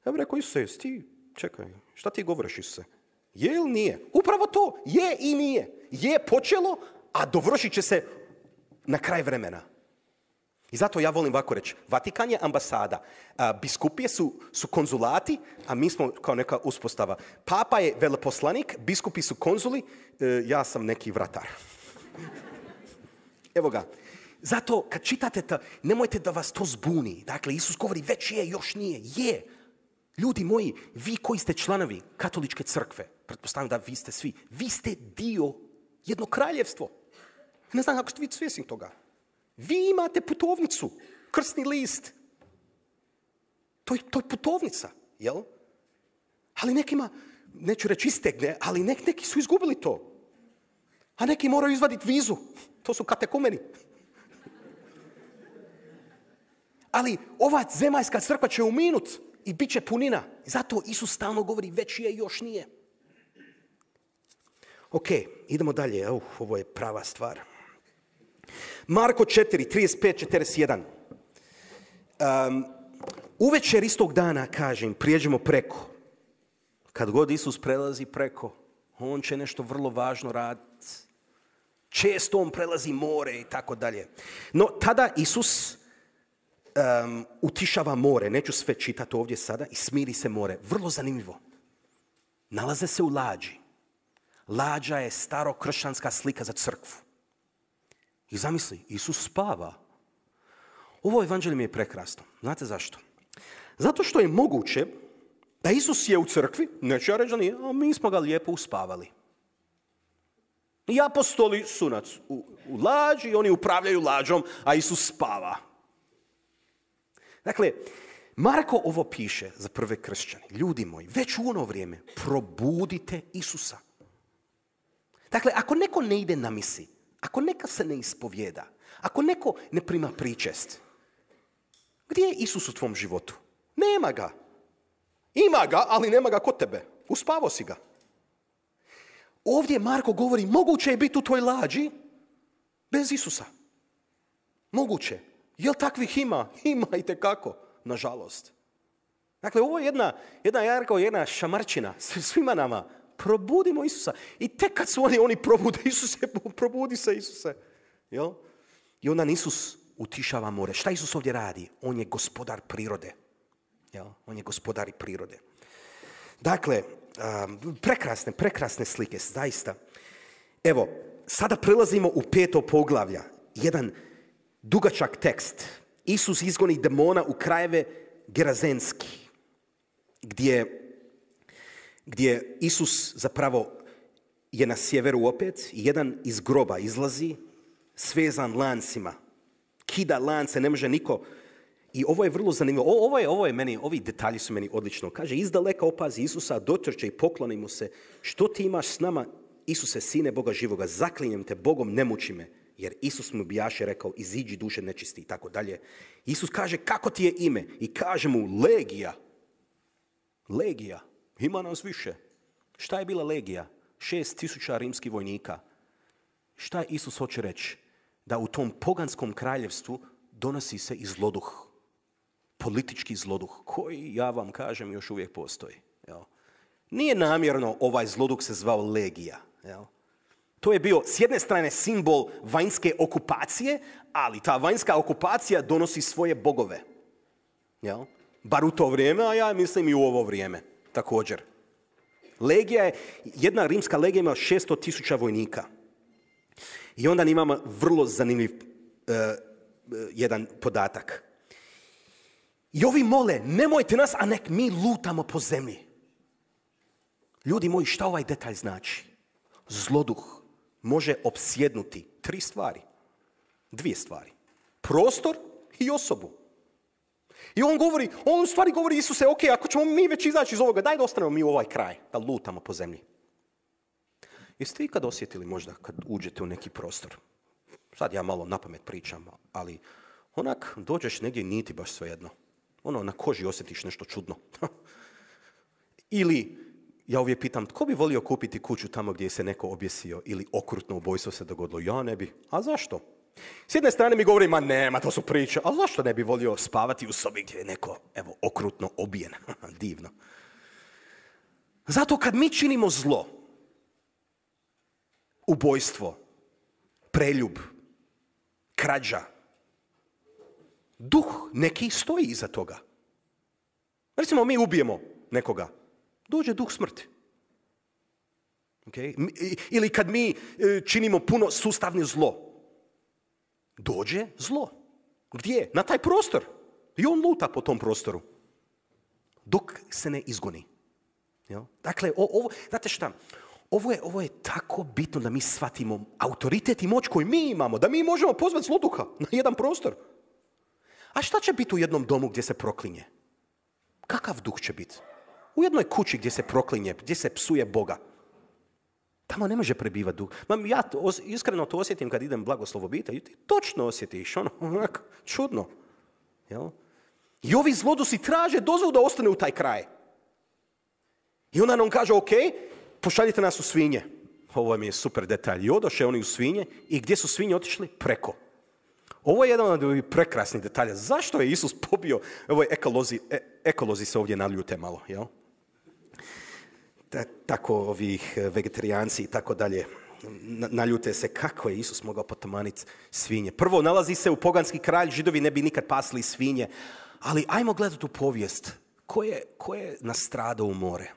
Ja bih rekao, Isuse, ti, čekaj, šta ti govoriš, Isuse? Je ili nije? Upravo to, je i nije. Je počelo, a dovršit će se na kraj vremena. I zato ja volim ovako reći, Vatikan je ambasada, a biskupije su, su konzulati, a mi smo kao neka uspostava. Papa je veleposlanik, biskupi su konzuli, e, ja sam neki vratar. Evo ga. Zato kad čitate to, nemojte da vas to zbuni. Dakle, Isus govori već je, još nije. Je. Ljudi moji, vi koji ste članovi katoličke crkve, pretpostavljam da vi ste svi, vi ste dio jedno kraljevstvo. Ne znam kako ste vi svjesni toga. Vi imate putovnicu, krstni list. To je, to je putovnica, jel? Ali nekima, neću reći istegne, ali nek, neki su izgubili to. A neki moraju izvaditi vizu. To su katekumeni. Ali ova zemaljska crkva će uminut i bit će punina. Zato Isus stalno govori već je, još nije. Ok, idemo dalje. Uh, ovo je prava stvar. Marko četiri, trideset pet, četrdeset jedan. Um, uvečer istog dana, kažem, prijeđemo preko. Kad god Isus prelazi preko, on će nešto vrlo važno raditi. Često on prelazi more i tako dalje. No, tada Isus um, utišava more. Neću sve čitati ovdje sada. I smiri se more. Vrlo zanimljivo. Nalaze se u lađi. Lađa je starokršćanska slika za crkvu. I zamisli, Isus spava. Ovo evanđelje mi je prekrasno. Znate zašto? Zato što je moguće da Isus je u crkvi, neću ja reći da nije, a mi smo ga lijepo uspavali. I apostoli su u, u lađi, oni upravljaju lađom, a Isus spava. Dakle, Marko ovo piše za prve kršćane. Ljudi moji, već u ono vrijeme probudite Isusa. Dakle, ako neko ne ide na misi, ako neka se ne ispovijeda, ako neko ne prima pričest, gdje je Isus u tvom životu? Nema ga. Ima ga, ali nema ga kod tebe. Uspavao si ga. Ovdje Marko govori, moguće je biti u toj lađi bez Isusa. Moguće. Jel takvih ima? Ima itekako, nažalost. Dakle, ovo je jedna, jedna, ja rekao, jedna šamarčina svima nama. Probudimo Isusa. I tek kad su oni, oni probude Isuse, probudi se Isuse. Jel? I onda Isus utišava more. Šta Isus ovdje radi? On je gospodar prirode. Jel? On je gospodar prirode. Dakle, um, prekrasne, prekrasne slike, zaista. Evo, sada prelazimo u peto poglavlja. Jedan dugačak tekst. Isus izgoni demona u krajeve Gerazenski, gdje gdje Isus zapravo je na sjeveru opet i jedan iz groba izlazi, svezan lancima. Kida lance, ne može niko I ovo je vrlo zanimljivo. O, ovo je, ovo je meni, ovi detalji su meni odlično. Kaže, izdaleka opazi Isusa, dotrče i pokloni mu se. Što ti imaš s nama, Isuse, sine Boga živoga? Zaklinjem te Bogom, ne muči me. Jer Isus mu bijaše rekao, iziđi duše nečisti i tako dalje. Isus kaže, kako ti je ime? I kaže mu, legija. Legija. Ima nas više. Šta je bila legija? Šest tisuća rimskih vojnika. Šta Isus hoće reći? Da u tom poganskom kraljevstvu donosi se i zloduh. Politički zloduh, koji, ja vam kažem, još uvijek postoji. Jel? Nije namjerno ovaj zloduh se zvao legija. Jel? To je bio s jedne strane simbol vanjske okupacije, ali ta vanjska okupacija donosi svoje bogove. Jel? Bar u to vrijeme, a ja mislim i u ovo vrijeme također. Legija je, jedna rimska legija ima šesto tisuća vojnika. I onda imamo vrlo zanimljiv uh, jedan podatak. I ovi mole, nemojte nas, a nek mi lutamo po zemlji. Ljudi moji, šta ovaj detalj znači? Zloduh može opsjednuti tri stvari. Dvije stvari. Prostor i osobu. I on govori, on u stvari govori Isuse, ok, ako ćemo mi već izaći iz ovoga, daj da ostanemo mi u ovaj kraj, da lutamo po zemlji. Jeste vi kad osjetili možda kad uđete u neki prostor? Sad ja malo napamet pričam, ali onak dođeš negdje nije ti baš svejedno. Ono, na koži osjetiš nešto čudno. Ili, ja uvijek pitam, tko bi volio kupiti kuću tamo gdje se neko objesio ili okrutno ubojstvo se dogodilo? Ja ne bi. A zašto? S jedne strane mi govori, ma nema, to su priče. A zašto ne bi volio spavati u sobi gdje je neko, evo, okrutno obijen? Divno. Zato kad mi činimo zlo, ubojstvo, preljub, krađa, duh neki stoji iza toga. Recimo, mi ubijemo nekoga. Dođe duh smrti. Okay? Ili kad mi činimo puno sustavno zlo. Dođe zlo. Gdje? Na taj prostor. I on luta po tom prostoru. Dok se ne izgoni. Jel? Dakle, ovo, znate šta? Ovo je, ovo je tako bitno da mi shvatimo autoritet i moć koju mi imamo. Da mi možemo pozvati zloduha na jedan prostor. A šta će biti u jednom domu gdje se proklinje? Kakav duh će biti? U jednoj kući gdje se proklinje, gdje se psuje Boga. Tamo ne može prebivati duh. Ja to, iskreno to osjetim kad idem blagoslov obitelji. Ti točno osjetiš, ono, onako, čudno. Jel? I ovi zlodusi traže dozvolu da ostane u taj kraj. I onda nam kaže, ok, pošaljite nas u svinje. Ovo mi je super detalj. I odoše oni u svinje i gdje su svinje otišli? Preko. Ovo je jedan od prekrasnih detalja. Zašto je Isus pobio? Ovo je ekolozi, e, ekolozi se ovdje naljute malo, jel? Ta, tako ovih vegetarijanci i tako dalje naljute se kako je Isus mogao potamaniti svinje. Prvo, nalazi se u poganski kralj, Židovi ne bi nikad pasli svinje, ali ajmo gledati u povijest. Ko je, ko je nastradao u more?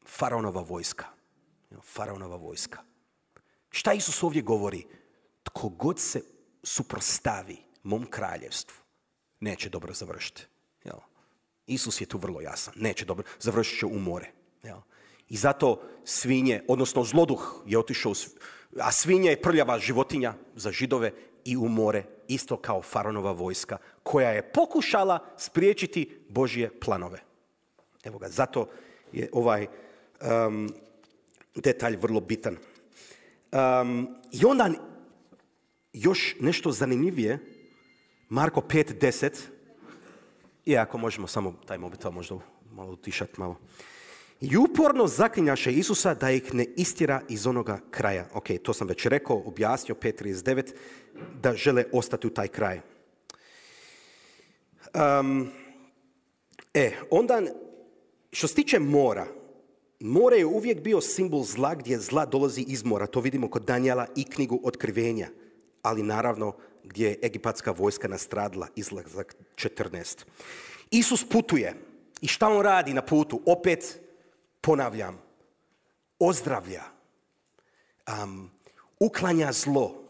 Faraonova vojska. Faraonova vojska. Šta Isus ovdje govori? Tko god se suprotstavi mom kraljevstvu, neće dobro završiti. Jel? Isus je tu vrlo jasan. Neće dobro, završit će u more. Jel? I zato svinje, odnosno zloduh je otišao, a svinje je prljava životinja za Židove i u more, isto kao faraonova vojska, koja je pokušala spriječiti Božje planove. Evo ga, zato je ovaj um, detalj vrlo bitan. Um, I onda još nešto zanimljivije, Marko pet deset, i ako možemo samo taj mobitel možda malo utišati malo. I uporno zaklinjaše Isusa da ih ne istjera iz onoga kraja. Ok, to sam već rekao, objasnio, pet trideset devet, da žele ostati u taj kraj. Um, e, onda, što se tiče mora, more je uvijek bio simbol zla gdje zla dolazi iz mora. To vidimo kod Danijela i knjigu Otkrivenja. Ali naravno gdje je egipatska vojska nastradila, izlazak četrnaest. Isus putuje. I šta on radi na putu? Opet ponavljam, ozdravlja, um, uklanja zlo,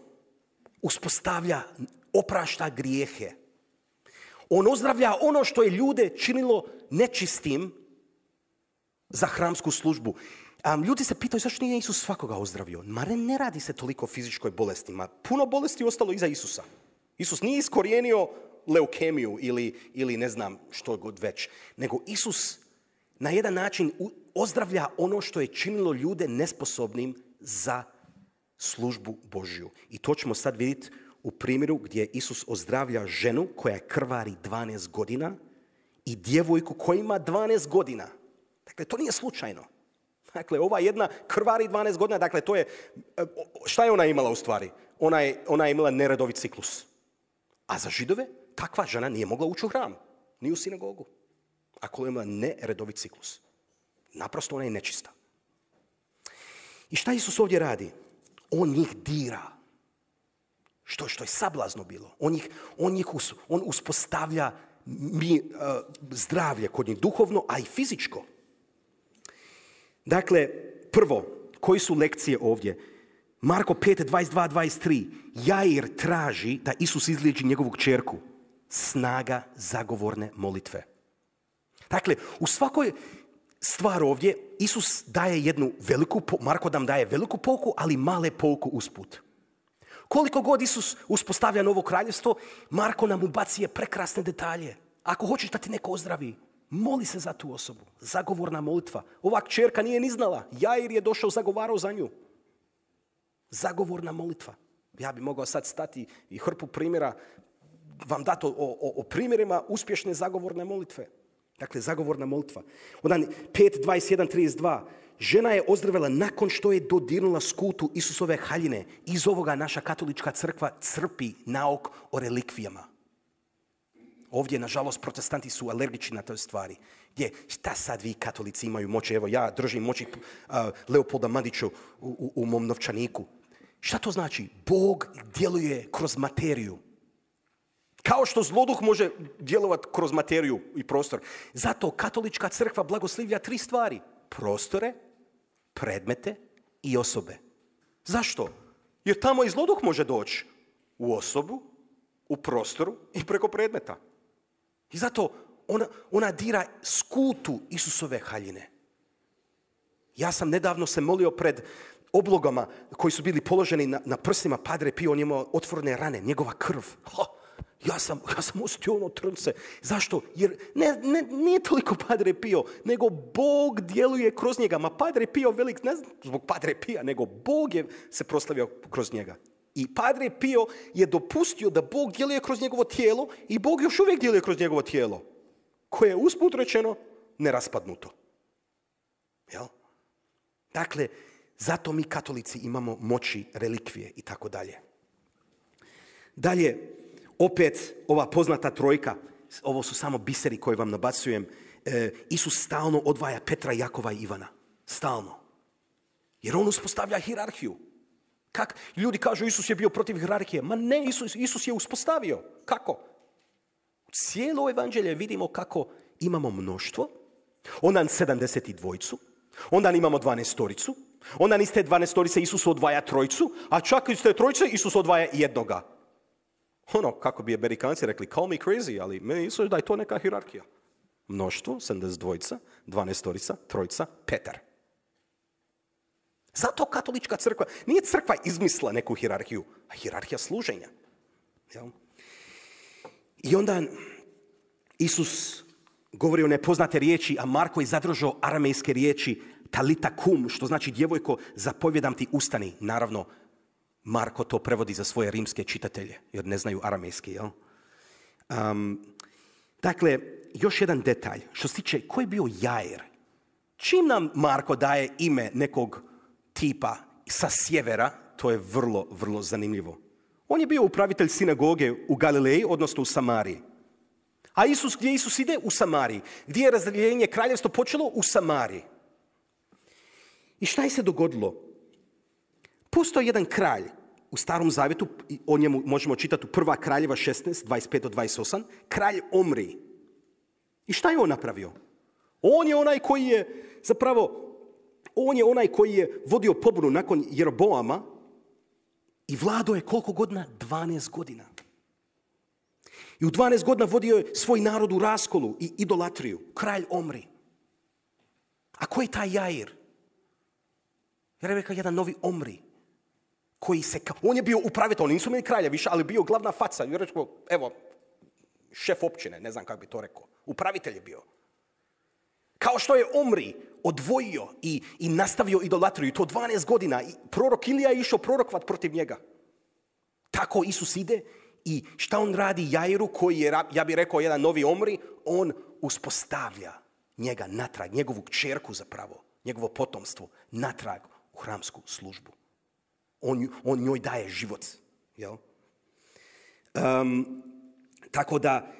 uspostavlja, oprašta grijehe. On ozdravlja ono što je ljude činilo nečistim za hramsku službu. Um, ljudi se pitaju zašto nije Isus svakoga ozdravio. Ma ne radi se toliko o fizičkoj bolesti. Ma puno bolesti je ostalo iza Isusa. Isus nije iskorijenio leukemiju ili, ili ne znam što god već. Nego Isus na jedan način ozdravlja ono što je činilo ljude nesposobnim za službu Božju. I to ćemo sad vidjeti u primjeru gdje Isus ozdravlja ženu koja krvari dvanaest godina i djevojku koja ima dvanaest godina. Dakle, to nije slučajno. Dakle, ova jedna krvari dvanaest godina, dakle, to je, šta je ona imala u stvari? Ona je, ona je imala neredovit ciklus. A za Židove takva žena nije mogla ući u hram, ni u sinagogu. Ako je imala neredovit ciklus. Naprosto ona je nečista. I šta Isus ovdje radi? On njih dira. Što, što je sablazno bilo. On, njih, on, njih us, on uspostavlja mi, uh, zdravlje kod njih, duhovno, a i fizičko. Dakle, prvo, koji su lekcije ovdje? Marko pet, dvadeset dva dvadeset tri. Jair traži da Isus izliječi njegovu kćerku. Snaga zagovorne molitve. Dakle, u svakoj stvar ovdje Isus daje jednu veliku, Marko nam daje veliku pouku, ali male pouku usput. Koliko god Isus uspostavlja novo kraljevstvo, Marko nam ubacuje prekrasne detalje. Ako hoćeš da ti neko ozdravi, moli se za tu osobu. Zagovorna molitva. Ova kćerka nije ni znala. Jair je došao, zagovarao za nju. Zagovorna molitva. Ja bi mogao sad stati i hrpu primjera, vam dati o, o, o primjerima uspješne zagovorne molitve. Dakle, zagovorna molitva. Onda pet, dvadeset jedan, trideset dva. Žena je ozdravila nakon što je dodirnula skutu Isusove haljine. Iz ovoga naša katolička crkva crpi nauk o relikvijama. Ovdje, nažalost, protestanti su alergični na toj stvari. Gdje, šta sad vi katolici imaju moći? Evo, ja držim moći uh, Leopolda Mandića u, u, u mom novčaniku. Šta to znači? Bog djeluje kroz materiju. Kao što zloduh može djelovati kroz materiju i prostor. Zato katolička crkva blagoslivlja tri stvari. Prostore, predmete i osobe. Zašto? Jer tamo i zloduh može doći u osobu, u prostoru i preko predmeta. I zato ona, ona dira skutu Isusove haljine. Ja sam nedavno se molio pred oblogama koji su bili položeni na, na prstima Padre Pio, on je imao otvorene rane, njegova krv. Ha, ja sam, ja sam osjetio ono trnce. Zašto? Jer ne, ne, nije toliko Padre Pio, nego Bog djeluje kroz njega. Ma Padre Pio velik, ne zbog Padre Pia, nego Bog je se proslavio kroz njega. I Padre Pio je dopustio da Bog djeluje kroz njegovo tijelo i Bog još uvijek djeluje kroz njegovo tijelo, koje je usput rečeno neraspadnuto. Jel? Dakle, zato mi katolici imamo moći, relikvije i tako dalje. Dalje, opet ova poznata trojka, ovo su samo biseri koje vam nabacujem, e, Isus stalno odvaja Petra, Jakova i Ivana. Stalno. Jer on uspostavlja hijerarhiju. Kak? Ljudi kažu Isus je bio protiv hijerarhije. Ma ne, Isus, Isus je uspostavio. Kako? U cijelo evanđelje vidimo kako imamo mnoštvo, onda sedamdeset dvojicu, onda imamo dvanaestoricu, onda iz te dvanaestorice Isus odvaja trojicu, a čak iz te trojice Isus odvaja jednoga. Ono, kako bi Amerikanci rekli, call me crazy, ali meni Isus da je to neka hijerarhija. Mnoštvo, sedamdeset dvojica, dvanaestorica, trojica, Petar. Zato katolička crkva, nije crkva izmisla neku hijerarhiju, a hijerarhija služenja. Jel? I onda Isus govori o nepoznate riječi, a Marko je zadržao aramejske riječi talita kum, što znači djevojko, zapovjedam ti ustani. Naravno, Marko to prevodi za svoje rimske čitatelje, jer ne znaju aramejski. Jel? Um, dakle, još jedan detalj. Što se tiče, ko je bio Jair? Čim nam Marko daje ime nekog tipa sa sjevera, to je vrlo, vrlo zanimljivo. On je bio upravitelj sinagoge u Galileji, odnosno u Samariji. A Isus, gdje Isus ide? U Samariji. Gdje je razdeljenje kraljevstva počelo? U Samariji. I šta je se dogodilo? Postoji jedan kralj u Starom Zavjetu, o njemu možemo čitati u Prva Kraljeva šesnaest, dvadeset pet do dvadeset osam, kralj Omri. I šta je on napravio? On je onaj koji je, zapravo, on je onaj koji je vodio pobunu nakon Jeroboama i vladao je koliko godina? dvanaest godina. I u dvanaest godina vodio je svoj narod u raskolu i idolatriju. Kralj Omri. A ko je taj Jair? Jer je rekao jedan novi Omri. Koji se, on je bio upravitelj, oni nisu imali kralja više, ali bio glavna faca. I rekao, evo, šef općine, ne znam kako bi to rekao. Upravitelj je bio. Kao što je Omri odvojio i, i nastavio idolatriju, to dvanaest godina, i prorok Ilija je išao prorokovat protiv njega. Tako Isus ide i šta on radi Jairu, koji je, ja bih rekao, jedan novi Omri, on uspostavlja njega natrag, njegovu kćerku zapravo, njegovo potomstvo, natrag u hramsku službu. On, on njoj daje život. Jel? Um, tako da,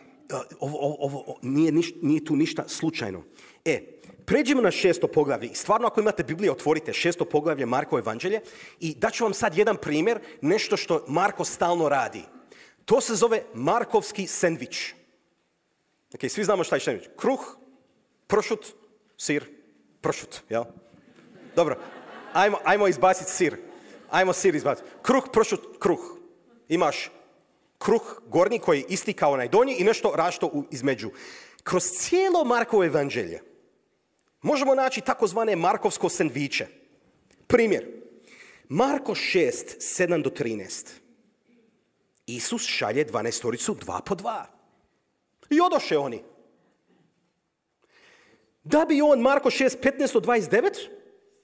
ovo, ovo, ovo nije, niš, nije tu ništa slučajno. E, pređemo na šesto poglavlje. Stvarno, ako imate Bibliju, otvorite šesto poglavlje Markovo evanđelje i daću vam sad jedan primjer, nešto što Marko stalno radi. To se zove Markovski sendvič. Ok, svi znamo šta je sendvič. Kruh, pršut, sir, pršut, jel? Dobro, ajmo, ajmo izbaciti sir. Ajmo sir izbaciti. Kruh, pršut, kruh. Imaš kruh gornji koji je isti kao onaj donji i nešto rašto između. Kroz cijelo Markovo evanđelje možemo naći takozvane Markovsko sendviče. Primjer, Marko šest, sedam do trinaest. Isus šalje dvanaestoricu dva po dva. I odoše oni. Da bi on, Marko šest, petnaest do dvadeset devet,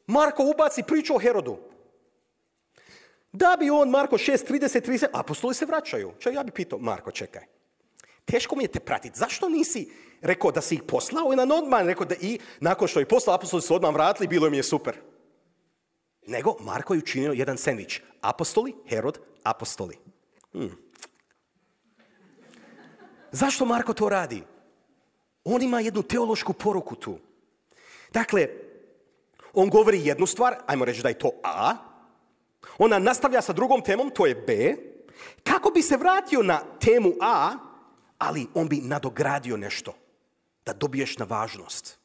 Marko ubaci priču o Herodu. Da bi on, Marko šest, trideset, trideset, apostoli se vraćaju. Čak ja bi pitao, Marko, čekaj. Teško mi je te pratiti. Zašto nisi rekao da si ih poslao i na odmah rekao da i nakon što ih poslao, apostoli su odmah vratili, bilo mi je super. Nego, Marko je učinio jedan sendvič. Apostoli, Herod, apostoli. Hmm. Zašto Marko to radi? On ima jednu teološku poruku tu. Dakle, on govori jednu stvar, ajmo reći da je to A, ona nastavlja sa drugom temom, to je B, kako bi se vratio na temu A, ali on bi nadogradio nešto, da dobiješ na važnost.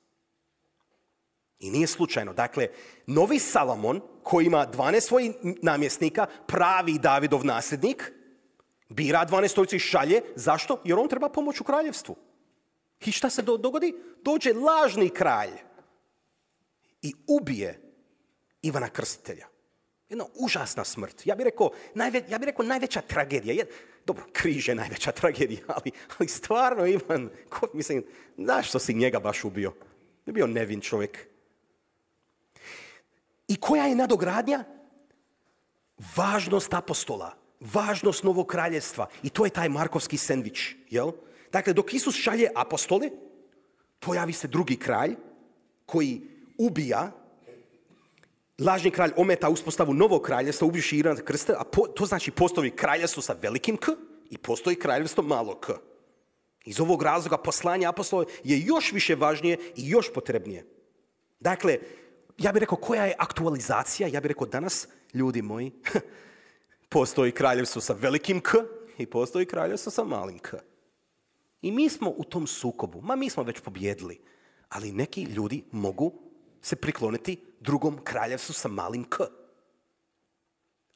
I nije slučajno. Dakle, novi Salomon, koji ima dvanaest svojih namjesnika, pravi Davidov nasljednik, bira dvanaestoricu i šalje. Zašto? Jer on treba pomoć u kraljevstvu. I šta se do- dogodi? Dođe lažni kralj i ubije Ivana Krstitelja. Jedna užasna smrt. Ja bih rekao, najve, ja bih rekao najveća tragedija. Jed, dobro, križ je najveća tragedija, ali, ali stvarno Ivan, ko, mislim, zašto si njega baš ubio? Je bio nevin čovjek. I koja je nadogradnja? Važnost apostola, važnost novog kraljevstva. I to je taj Markovski sendvič. Jel? Dakle, dok Isus šalje apostole, pojavi se drugi kralj koji ubija. Lažni kralj ometa uspostavu novog kraljevstva, ubivši Ivana Krstitelja, a po, to znači postoji kraljevstvo sa velikim K i postoji kraljevstvo malo K. Iz ovog razloga poslanje apostola je još više važnije i još potrebnije. Dakle, ja bih rekao, koja je aktualizacija? Ja bih rekao, danas, ljudi moji, postoji kraljevstvo sa velikim K i postoji kraljevstvo sa malim K. I mi smo u tom sukobu. Ma mi smo već pobjedili. Ali neki ljudi mogu se prikloniti drugom kraljevstvu sa malim K.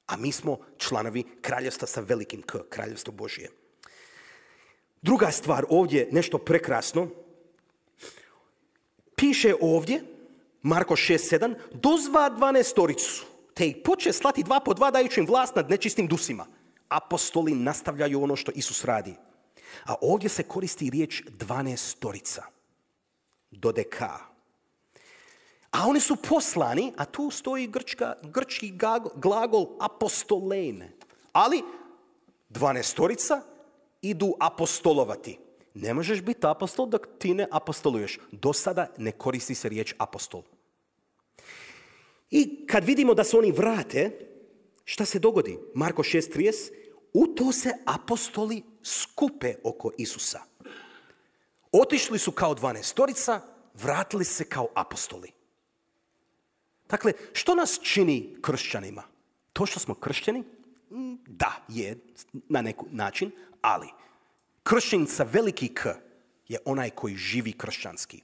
A mi smo članovi kraljevstva sa velikim K, kraljevstvo Božije. Druga stvar ovdje, nešto prekrasno. Piše ovdje, Marko šest sedam, dozva dvanaestoricu, te ih poče slati dva po dva dajući im vlast nad nečistim dusima. Apostoli nastavljaju ono što Isus radi. A ovdje se koristi riječ dvanaestorica. Dodeka. A oni su poslani, a tu stoji grčka, grčki glagol apostolein. Ali dvanaestorica idu apostolovati. Ne možeš biti apostol dok ti ne apostoluješ. Do sada ne koristi se riječ apostol. I kad vidimo da se oni vrate, šta se dogodi? Marko šest trideset, u to se apostoli skupe oko Isusa. Otišli su kao dvanaestorica, vratili se kao apostoli. Dakle, što nas čini kršćanima? To što smo kršćani? Da, je na neki način, ali kršćanin sa veliki K je onaj koji živi kršćanski.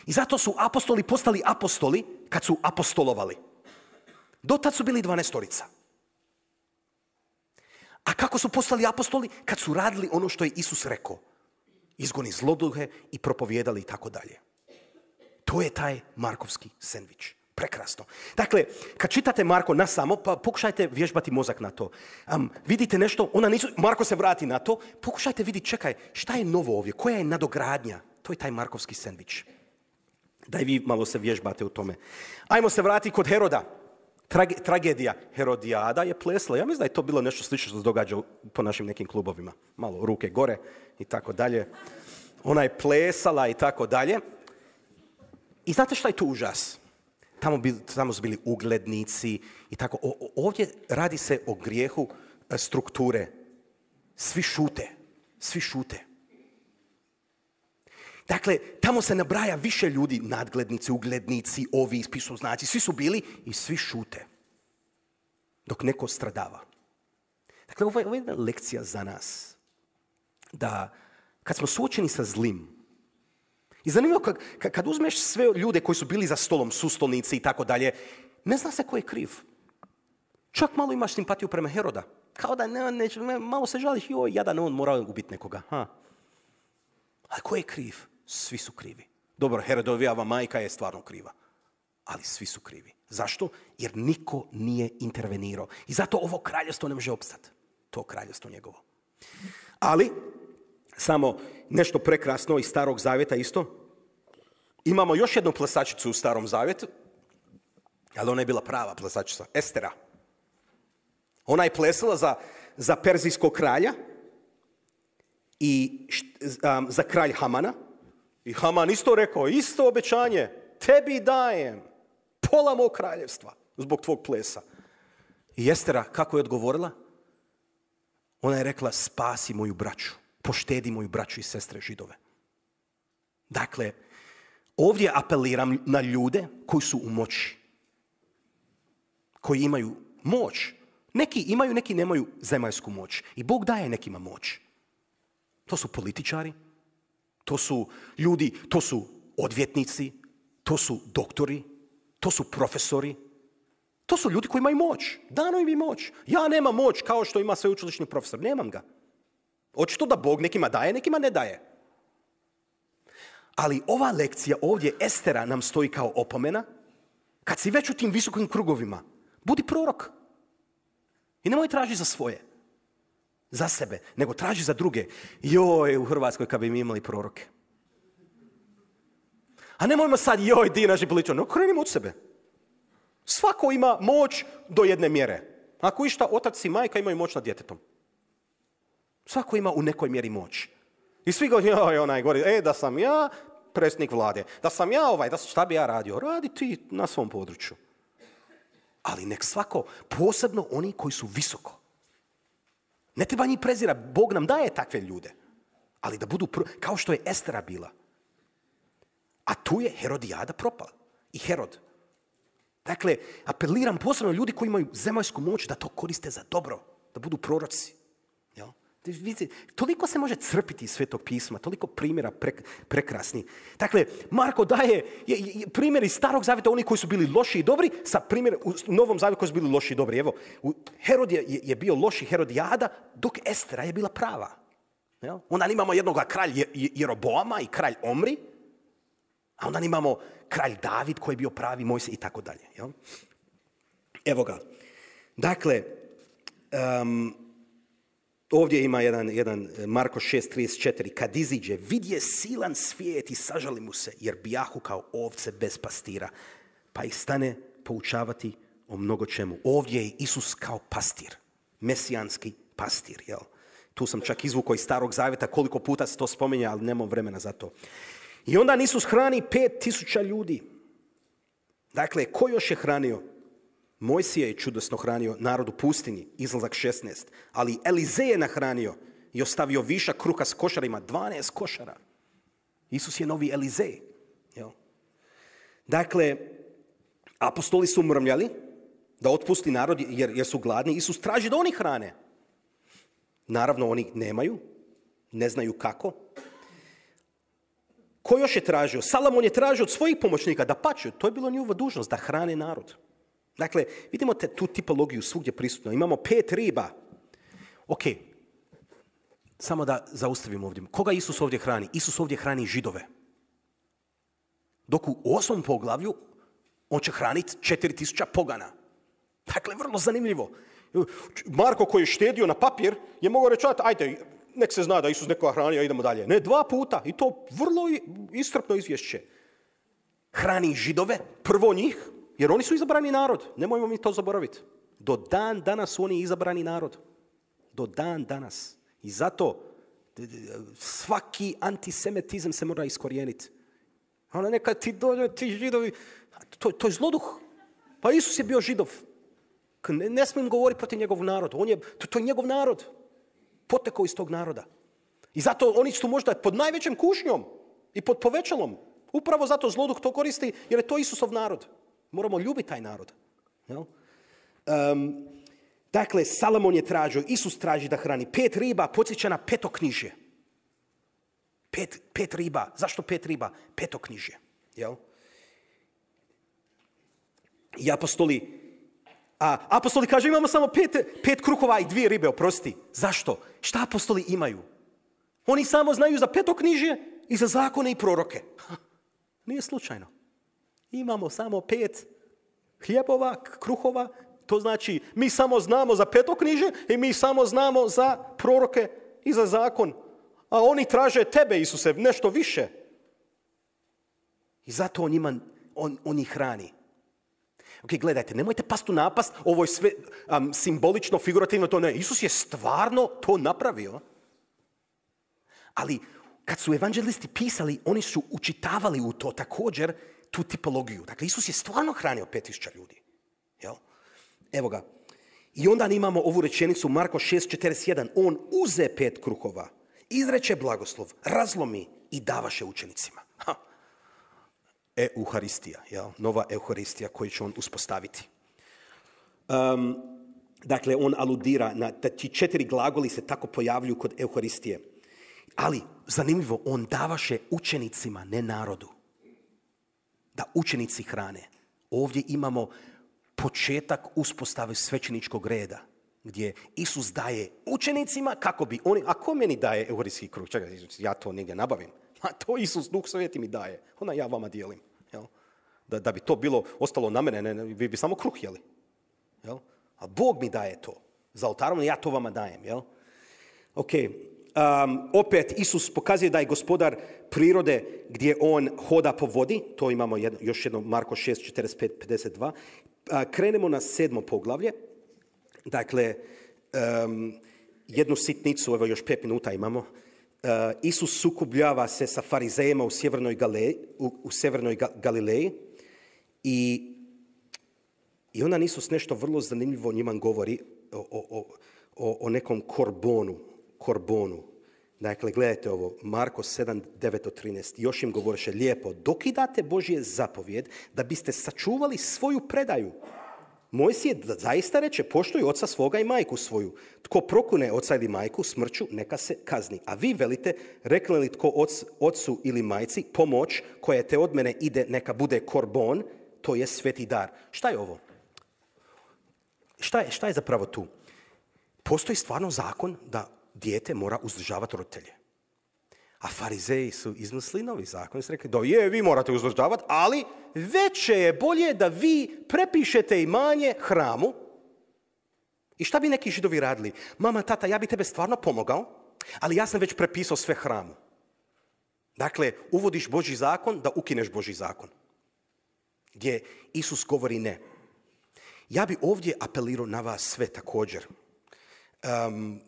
I zato su apostoli postali apostoli kad su apostolovali. Do tad su bili dvanaestorica. A kako su postali apostoli? Kad su radili ono što je Isus rekao. Izgoni zloduhe i propovijedali i tako dalje. To je taj Markovski sendvič. Prekrasno. Dakle, kad čitate Marko na samo, pa pokušajte vježbati mozak na to. Um, vidite nešto, ona nisu, Marko se vrati na to, pokušajte vidjeti, čekaj, šta je novo ovdje, koja je nadogradnja? To je taj markovski sendvič. Da i vi malo se vježbate u tome. Ajmo se vratiti kod Heroda. Trage, tragedija. Herodijada je plesla. Ja mislim da je to bilo nešto slično što se događa po našim nekim klubovima. Malo ruke gore i tako dalje. Ona je plesala i tako dalje. I znate šta je tu užas? Tamo, bil, tamo su bili uglednici i tako. O, o, ovdje radi se o grijehu strukture. Svi šute. Svi šute. Dakle, tamo se nabraja više ljudi, nadglednici, uglednici, ovi, pisoznaci, svi su bili i svi šute. Dok neko stradava. Dakle, ovo je, ovo je jedna lekcija za nas. Da kad smo suočeni sa zlim, i zanimljivo kad, kad uzmeš sve ljude koji su bili za stolom, sustolnici i tako dalje, ne zna se ko je kriv. Čak malo imaš simpatiju prema Heroda. Kao da ne, ne, malo se žališ, joj, jadan, on mora ubiti nekoga. Ha. Ali ko je kriv? Svi su krivi. Dobro, Herodovijeva majka je stvarno kriva. Ali svi su krivi. Zašto? Jer niko nije intervenirao. I zato ovo kraljevstvo ne može opstati. To kraljevstvo njegovo. Ali, samo nešto prekrasno iz Starog zavjeta isto. Imamo još jednu plesačicu u Starom zavjetu, ali ona je bila prava plesačica, Estera. Ona je plesala za, za perzijskog kralja i um, za kralj Hamana. I Haman isto rekao, isto obećanje, tebi dajem pola mog kraljevstva zbog tvog plesa. I Estera, kako je odgovorila? Ona je rekla, spasi moju braću, poštedi moju braću i sestre Židove. Dakle, ovdje apeliram na ljude koji su u moći, koji imaju moć. Neki imaju, neki nemaju zemaljsku moć. I Bog daje nekima moć. To su političari, to su ljudi, to su odvjetnici, to su doktori, to su profesori. To su ljudi koji imaju moć. Dano im je moć. Ja nemam moć kao što ima sveučilišni profesor. Nemam ga. Očito da Bog nekima daje, nekima ne daje. Ali ova lekcija ovdje, Estera, nam stoji kao opomena. Kad si već u tim visokim krugovima, budi prorok. I nemoj traži za svoje. Za sebe. Nego traži za druge. Joj, u Hrvatskoj kad bi mi imali proroke. A nemojmo sad, joj, di naši političari. No, krenimo od sebe. Svako ima moć do jedne mjere. Ako išta, otac i majka imaju moć nad djetetom. Svako ima u nekoj mjeri moć. I svi govori, joj, onaj govori, e, da sam ja predsjednik vlade, da sam ja ovaj, da šta bi ja radio? Radi ti na svom području. Ali nek svako, posebno oni koji su visoko. Ne treba njih prezira, Bog nam daje takve ljude. Ali da budu, kao što je Estera bila. A tu je Herodijada propala. I Herod. Dakle, apeliram posebno ljudi koji imaju zemaljsku moć da to koriste za dobro. Da budu proroci. Jel? Vidite, toliko se može crpiti iz Svetog pisma, toliko primjera prek, prekrasni. Dakle, Marko daje je, je, primjer iz Starog zavjeta, oni koji su bili loši i dobri, sa primjer u Novom zavjetu koji su bili loši i dobri. Evo, Herod je, je bio loši, Herodijada, dok Estera je bila prava. Jel? Onda imamo jednog kralj Jeroboama i kralj Omri, a onda imamo kralj David koji je bio pravi Mojsije i tako dalje. Jel? Evo ga. Dakle, um, ovdje ima jedan, jedan Marko šest trideset četiri. Kad iziđe, vidje silan svijet i sažali mu se, jer bijahu kao ovce bez pastira. Pa ih stane poučavati o mnogo čemu. Ovdje je Isus kao pastir. Mesijanski pastir. Jel? Tu sam čak izvukao iz Starog zavjeta koliko puta se to spominje, ali nemam vremena za to. I onda Isus hrani pet tisuća ljudi. Dakle, ko još je hranio? Mojsije je čudesno hranio narod u pustinji, Izlazak šesnaest. Ali Elizej je nahranio i ostavio višak kruha s košarima, dvanaest košara. Isus je novi Elizej. Jel? Dakle, apostoli su mrmljali da otpusti narod jer, jer su gladni. Isus traži da oni hrane. Naravno, oni nemaju, ne znaju kako. Ko još je tražio? Salomon je tražio od svojih pomoćnika da pače. To je bilo njihova dužnost, da hrane narod. Dakle, vidimo te, tu tipologiju svugdje prisutno. Imamo pet riba. Ok, samo da zaustavimo ovdje. Koga Isus ovdje hrani? Isus ovdje hrani Židove. Dok u osmom poglavlju On će hraniti četiri tisuće pogana. Dakle, vrlo zanimljivo. Marko koji je štedio na papir je mogao reći, ajde, nek se zna da Isus nekoga hranio, idemo dalje. Ne, dva puta. I to vrlo iscrpno izvješće. Hrani Židove, prvo njih, jer oni su izabrani narod. Nemojmo mi to zaboraviti. Do dan danas su oni izabrani narod. Do dan danas. I zato svaki antisemitizam se mora iskorijeniti. Ona neka ti dođe, ti Židovi, to, to je zloduh. Pa Isus je bio Židov. Ne, ne smijem govoriti protiv njegovog naroda. On je, to, to je njegov narod. Potekao iz tog naroda. I zato oni su možda pod najvećim kušnjom i pod povećalom. Upravo zato zloduh to koristi, jer je to Isusov narod. Moramo ljubiti taj narod. Jel? Um, dakle, Salomon je tražio, Isus traži da hrani. Pet riba podsjeća na petoknižje. Pet, pet riba. Zašto pet riba? Petoknižje. Jel? I apostoli, a apostoli kaže imamo samo pet, pet kruhova i dvije ribe, oprosti. Zašto? Šta apostoli imaju? Oni samo znaju za petoknižje i za zakone i proroke. Nije slučajno. Imamo samo pet hljebova, kruhova. To znači mi samo znamo za petoknižje i mi samo znamo za proroke i za zakon. A oni traže tebe, Isuse, nešto više. I zato on, ima, on, on ih hrani. Ok, gledajte, nemojte past u napast, ovo je sve um, simbolično, figurativno, to ne. Isus je stvarno to napravio. Ali kad su evanđelisti pisali, oni su učitavali u to također tu tipologiju. Dakle, Isus je stvarno hranio pet tisuća ljudi. Jel? Evo ga. I onda imamo ovu rečenicu Marko šest četrdeset jedan. On uze pet kruhova, izreče blagoslov, razlomi i davaše učenicima. Ha. Euharistija, jel? Nova Euharistija koju će on uspostaviti. Um, dakle, on aludira na ti četiri glagoli se tako pojavljuju kod Euharistije. Ali, zanimljivo, on davaše učenicima, ne narodu. Da učenici hrane. Ovdje imamo početak uspostave svećeničkog reda, gdje Isus daje učenicima kako bi oni, a ko meni daje euharistijski kruh? Čekaj, ja to negdje nabavim. A to Isus, Duh Sveti mi daje. Ona ja vama dijelim. Jel? Da, da bi to bilo ostalo na mene, ne, ne, vi bi samo kruh jeli. Jel? A Bog mi daje to. Za oltarom ja to vama dajem. Jel? Ok. Um, opet Isus pokazuje da je gospodar prirode gdje on hoda po vodi. To imamo jedno, još jedno Marko šest četrdeset pet pedeset dva. Uh, krenemo na sedmo poglavlje. Dakle, um, jednu sitnicu, evo još pet minuta imamo. Uh, Isus sukobljava se sa farizejima u sjevernoj, Gale, u, u sjevernoj Ga, Galileji i, i onda Isus nešto vrlo zanimljivo njima govori o, o, o, o nekom korbonu. korbonu. Dakle, gledajte ovo, Marko sedam devet do trinaest. Još im govoriše lijepo, dokidate Božje zapovjed da biste sačuvali svoju predaju. Mojsije zaista reče, poštuj oca svoga i majku svoju. Tko prokune oca ili majku, smrću neka se kazni. A vi velite, rekli li tko oc, ocu ili majci, pomoć koja te od mene ide, neka bude korbon, to je sveti dar. Šta je ovo? Šta je, šta je zapravo tu? Postoji stvarno zakon da dijete mora uzdržavati roditelje. A farizeji su izmislili novi zakon i su rekli, da je, vi morate uzdržavati, ali veće je bolje da vi prepišete imanje hramu. I šta bi neki Židovi radili? Mama, tata, ja bi tebe stvarno pomogao, ali ja sam već prepisao sve hramu. Dakle, uvodiš Božji zakon da ukineš Božji zakon. Gdje Isus govori ne. Ja bi ovdje apelirao na vas sve također. Um,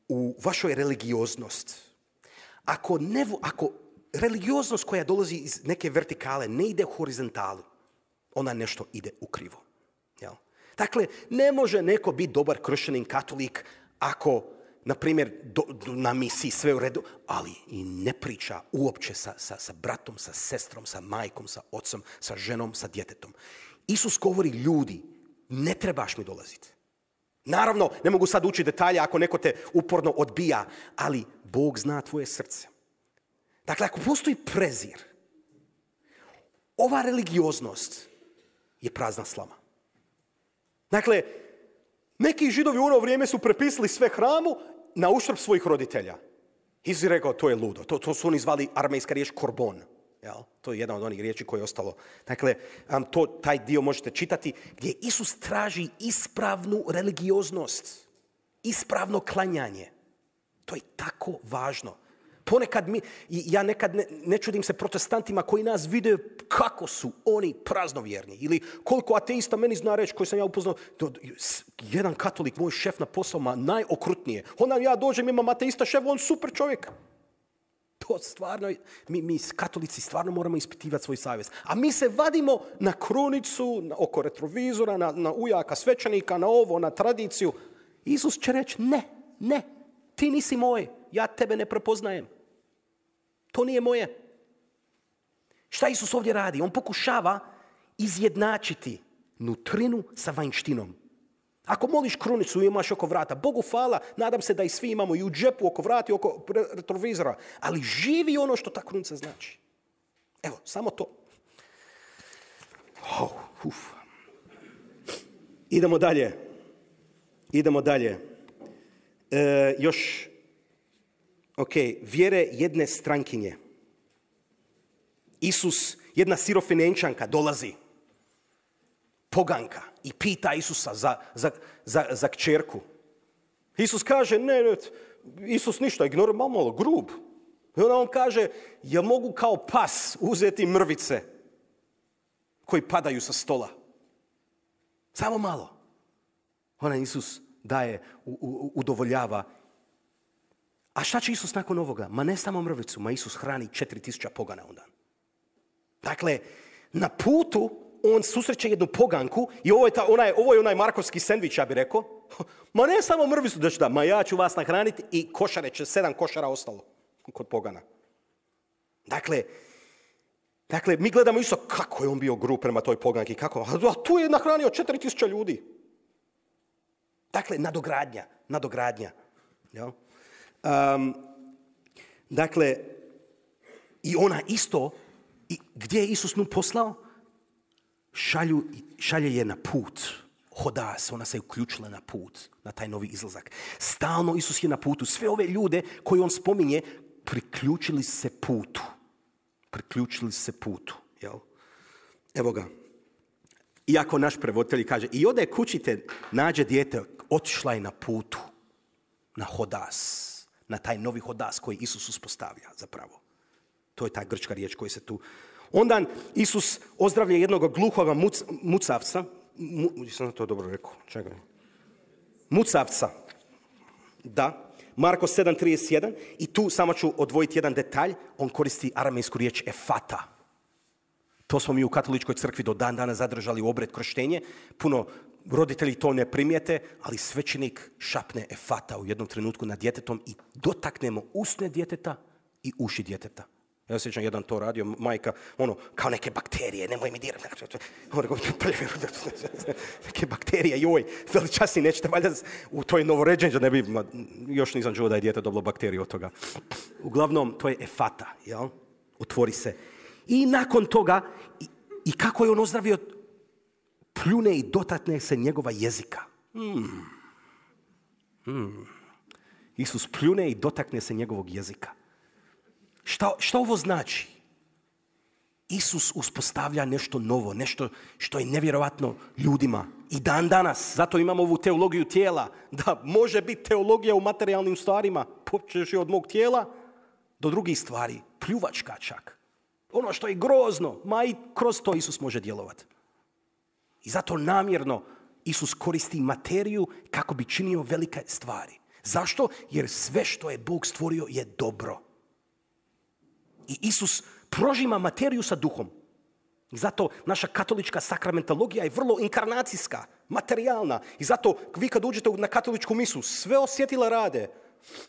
u vašoj religioznost. Ako, ne, ako religioznost koja dolazi iz neke vertikale ne ide u horizontalu, ona nešto ide u krivo. Jel? Dakle, ne može neko biti dobar kršćanin, katolik, ako, na primjer, do, do, na misiji sve u redu, ali i ne priča uopće sa, sa, sa bratom, sa sestrom, sa majkom, sa ocom, sa ženom, sa djetetom. Isus govori, ljudi, ne trebaš mi dolaziti. Naravno, ne mogu sad učiti detalje ako neko te uporno odbija, ali Bog zna tvoje srce. Dakle, ako postoji prezir, ova religioznost je prazna slama. Dakle, neki Židovi u ono vrijeme su prepisali sve hramu na uštrb svojih roditelja. Isus je rekao, to je ludo. To, to su oni zvali armejska riječ korbon. Jel? To je jedna od onih riječi koje je ostalo. Dakle, um, to, taj dio možete čitati gdje Isus traži ispravnu religioznost, ispravno klanjanje. To je tako važno. Ponekad mi, ja nekad ne, ne čudim se protestantima koji nas vide kako su oni praznovjerni. Ili koliko ateista meni zna reći koji sam ja upoznao. Jedan katolik, moj šef na posao, ma najokrutnije. Onda ja dođem, imam ateista šef, on super čovjek. To stvarno, mi, mi katolici stvarno moramo ispitivati svoj savjest. A mi se vadimo na krunicu, na, oko retrovizora, na, na ujaka svećenika, na ovo, na tradiciju. Isus će reći ne, ne, ti nisi moj, ja tebe ne prepoznajem. To nije moje. Šta Isus ovdje radi? On pokušava izjednačiti nutrinu sa vanjštinom. Ako moliš krunicu i imaš oko vrata, Bogu hvala, nadam se da i svi imamo i u džepu, oko vrata i oko retrovizora, ali živi ono što ta krunica znači. Evo, samo to. Oh, uf. Idemo dalje. Idemo dalje. E, još, ok, vjere jedne strankinje. Isus, jedna sirofinenčanka dolazi, poganka, i pita Isusa za, za, za, za kćerku. Isus kaže, ne, ne, Isus ništa, ignorira, malo, malo grub. I onda on kaže, ja mogu kao pas uzeti mrvice koji padaju sa stola. Samo malo. Ona Isus daje, u, u, udovoljava. A šta će Isus nakon ovoga? Ma ne samo mrvicu, ma Isus hrani četiri tisuće pogana on dan. Dakle, na putu on susreće jednu poganku i ovo je, ta, onaj, ovo je onaj markovski sendvič, ja bih rekao. Ma ne samo mrvicu da ću da, ma ja ću vas nahraniti i košare će, sedam košara ostalo kod pogana. Dakle, dakle mi gledamo isto kako je on bio grub prema toj poganki, kako, a tu je nahranio četiri tisuće ljudi. Dakle, nadogradnja, nadogradnja. Ja? Um, dakle, i ona isto, i gdje je Isus nju poslao? Šalju, šalje je na put. Hoda se, ona se je uključila na put, na taj novi izlazak. Stalno Isus je na putu. Sve ove ljude koje on spominje, priključili se putu. Priključili se putu. Jel? Evo ga. Iako naš prevoditelj kaže, i ode kući te nađe dijete, otišla je na putu, na hodas, na taj novi hodas koji Isus uspostavlja zapravo. To je ta grčka riječ koja se tu... Onda Isus ozdravlja jednog gluhoga muc, mucavca. Mu, sam to dobro rekao. Čekaj. Mucavca. Da. Marko sedam trideset jedan. I tu samo ću odvojiti jedan detalj. On koristi aramejsku riječ efata. To smo mi u katoličkoj crkvi do dan dana zadržali u obred krštenje. Puno roditelji to ne primijete, ali svećenik šapne efata u jednom trenutku nad djetetom i dotaknemo usne djeteta i uši djeteta. Ja se sjećam, jedan to radio, majka, ono, kao neke bakterije, nemoj mi dirati. Neke bakterije, joj, veličasni, nećete valjda, to je novoređenje, ne bi, ma, još nisam čuo da je dijete dobilo bakteriju od toga. Uglavnom, to je efata, jel? Otvori se. I nakon toga, i, i kako je on ozdravio, pljune i dotakne se njegova jezika. Hmm. Hmm. Isus pljune i dotakne se njegovog jezika. Šta, šta ovo znači? Isus uspostavlja nešto novo, nešto što je nevjerojatno ljudima. I dan danas, zato imamo ovu teologiju tijela, da može biti teologija u materijalnim stvarima, počeš od mog tijela do drugih stvari, pljuvačka čak. Ono što je grozno, ma i kroz to Isus može djelovati. I zato namjerno Isus koristi materiju kako bi činio velike stvari. Zašto? Jer sve što je Bog stvorio je dobro. I Isus prožima materiju sa duhom. I zato naša katolička sakramentologija je vrlo inkarnacijska, materijalna. I zato vi kad uđete na katoličku misu, sve osjetila rade.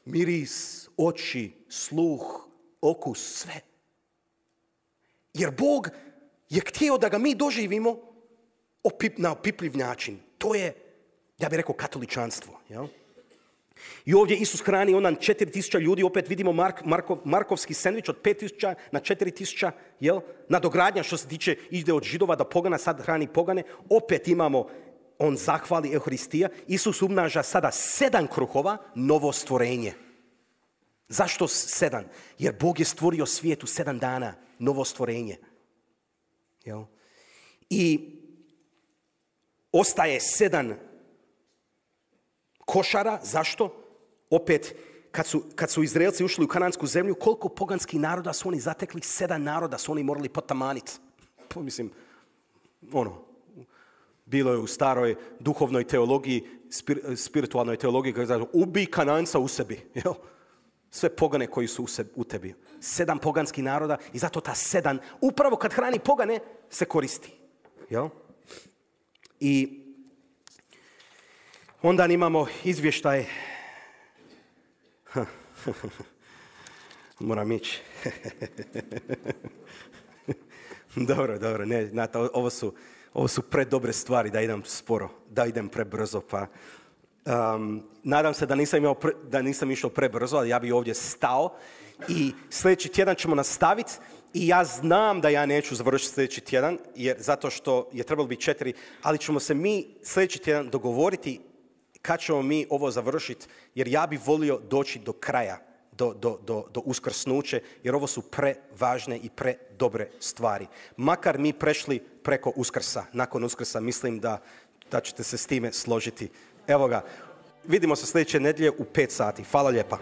Miris, oči, sluh, okus, sve. Jer Bog je htio da ga mi doživimo opip, na opipljiv način. To je, ja bih rekao, katoličanstvo. Jel? I ovdje Isus hrani onan četiri tisuće ljudi, opet vidimo Mark, Markov, Markovski sendvič od pet tisuća na četiri tisuće, jel? Nadogradnja što se tiče ide od Židova do pogana, sad hrani pogane. Opet imamo, on zahvali Euharistija. Isus umnaža sada sedam kruhova, novo stvorenje. Zašto sedam? Jer Bog je stvorio svijet u sedam dana. novo stvorenje. Jel? I ostaje sedam košara. Zašto? Opet, kad su, kad su Izraelci ušli u kanansku zemlju, koliko poganskih naroda su oni zatekli? Sedam naroda su oni morali potamaniti. Mislim, ono, bilo je u staroj duhovnoj teologiji, spir, spiritualnoj teologiji, kako znači, ubij Kananca u sebi. Jel? Sve pogane koji su u, sebi, u tebi. Sedam poganskih naroda i zato ta sedam, upravo kad hrani pogane, se koristi. Jel? I onda imamo izvještaj. Moram ići. Dobro, dobro. Ne, znate, ovo su, ovo su predobre stvari da idem sporo, da idem prebrzo. Pa, um, nadam se da nisam, imao pre, da nisam išao prebrzo, ali ja bi ovdje stao. I sljedeći tjedan ćemo nastaviti. I ja znam da ja neću završiti sljedeći tjedan, jer zato što je trebalo biti četiri, ali ćemo se mi sljedeći tjedan dogovoriti kad ćemo mi ovo završiti, jer ja bih volio doći do kraja, do, do, do, do uskrsnuće, jer ovo su prevažne i predobre stvari. Makar mi prešli preko Uskrsa, nakon Uskrsa, mislim da, da ćete se s time složiti. Evo ga, vidimo se sljedeće nedjelje u pet sati. Hvala lijepa.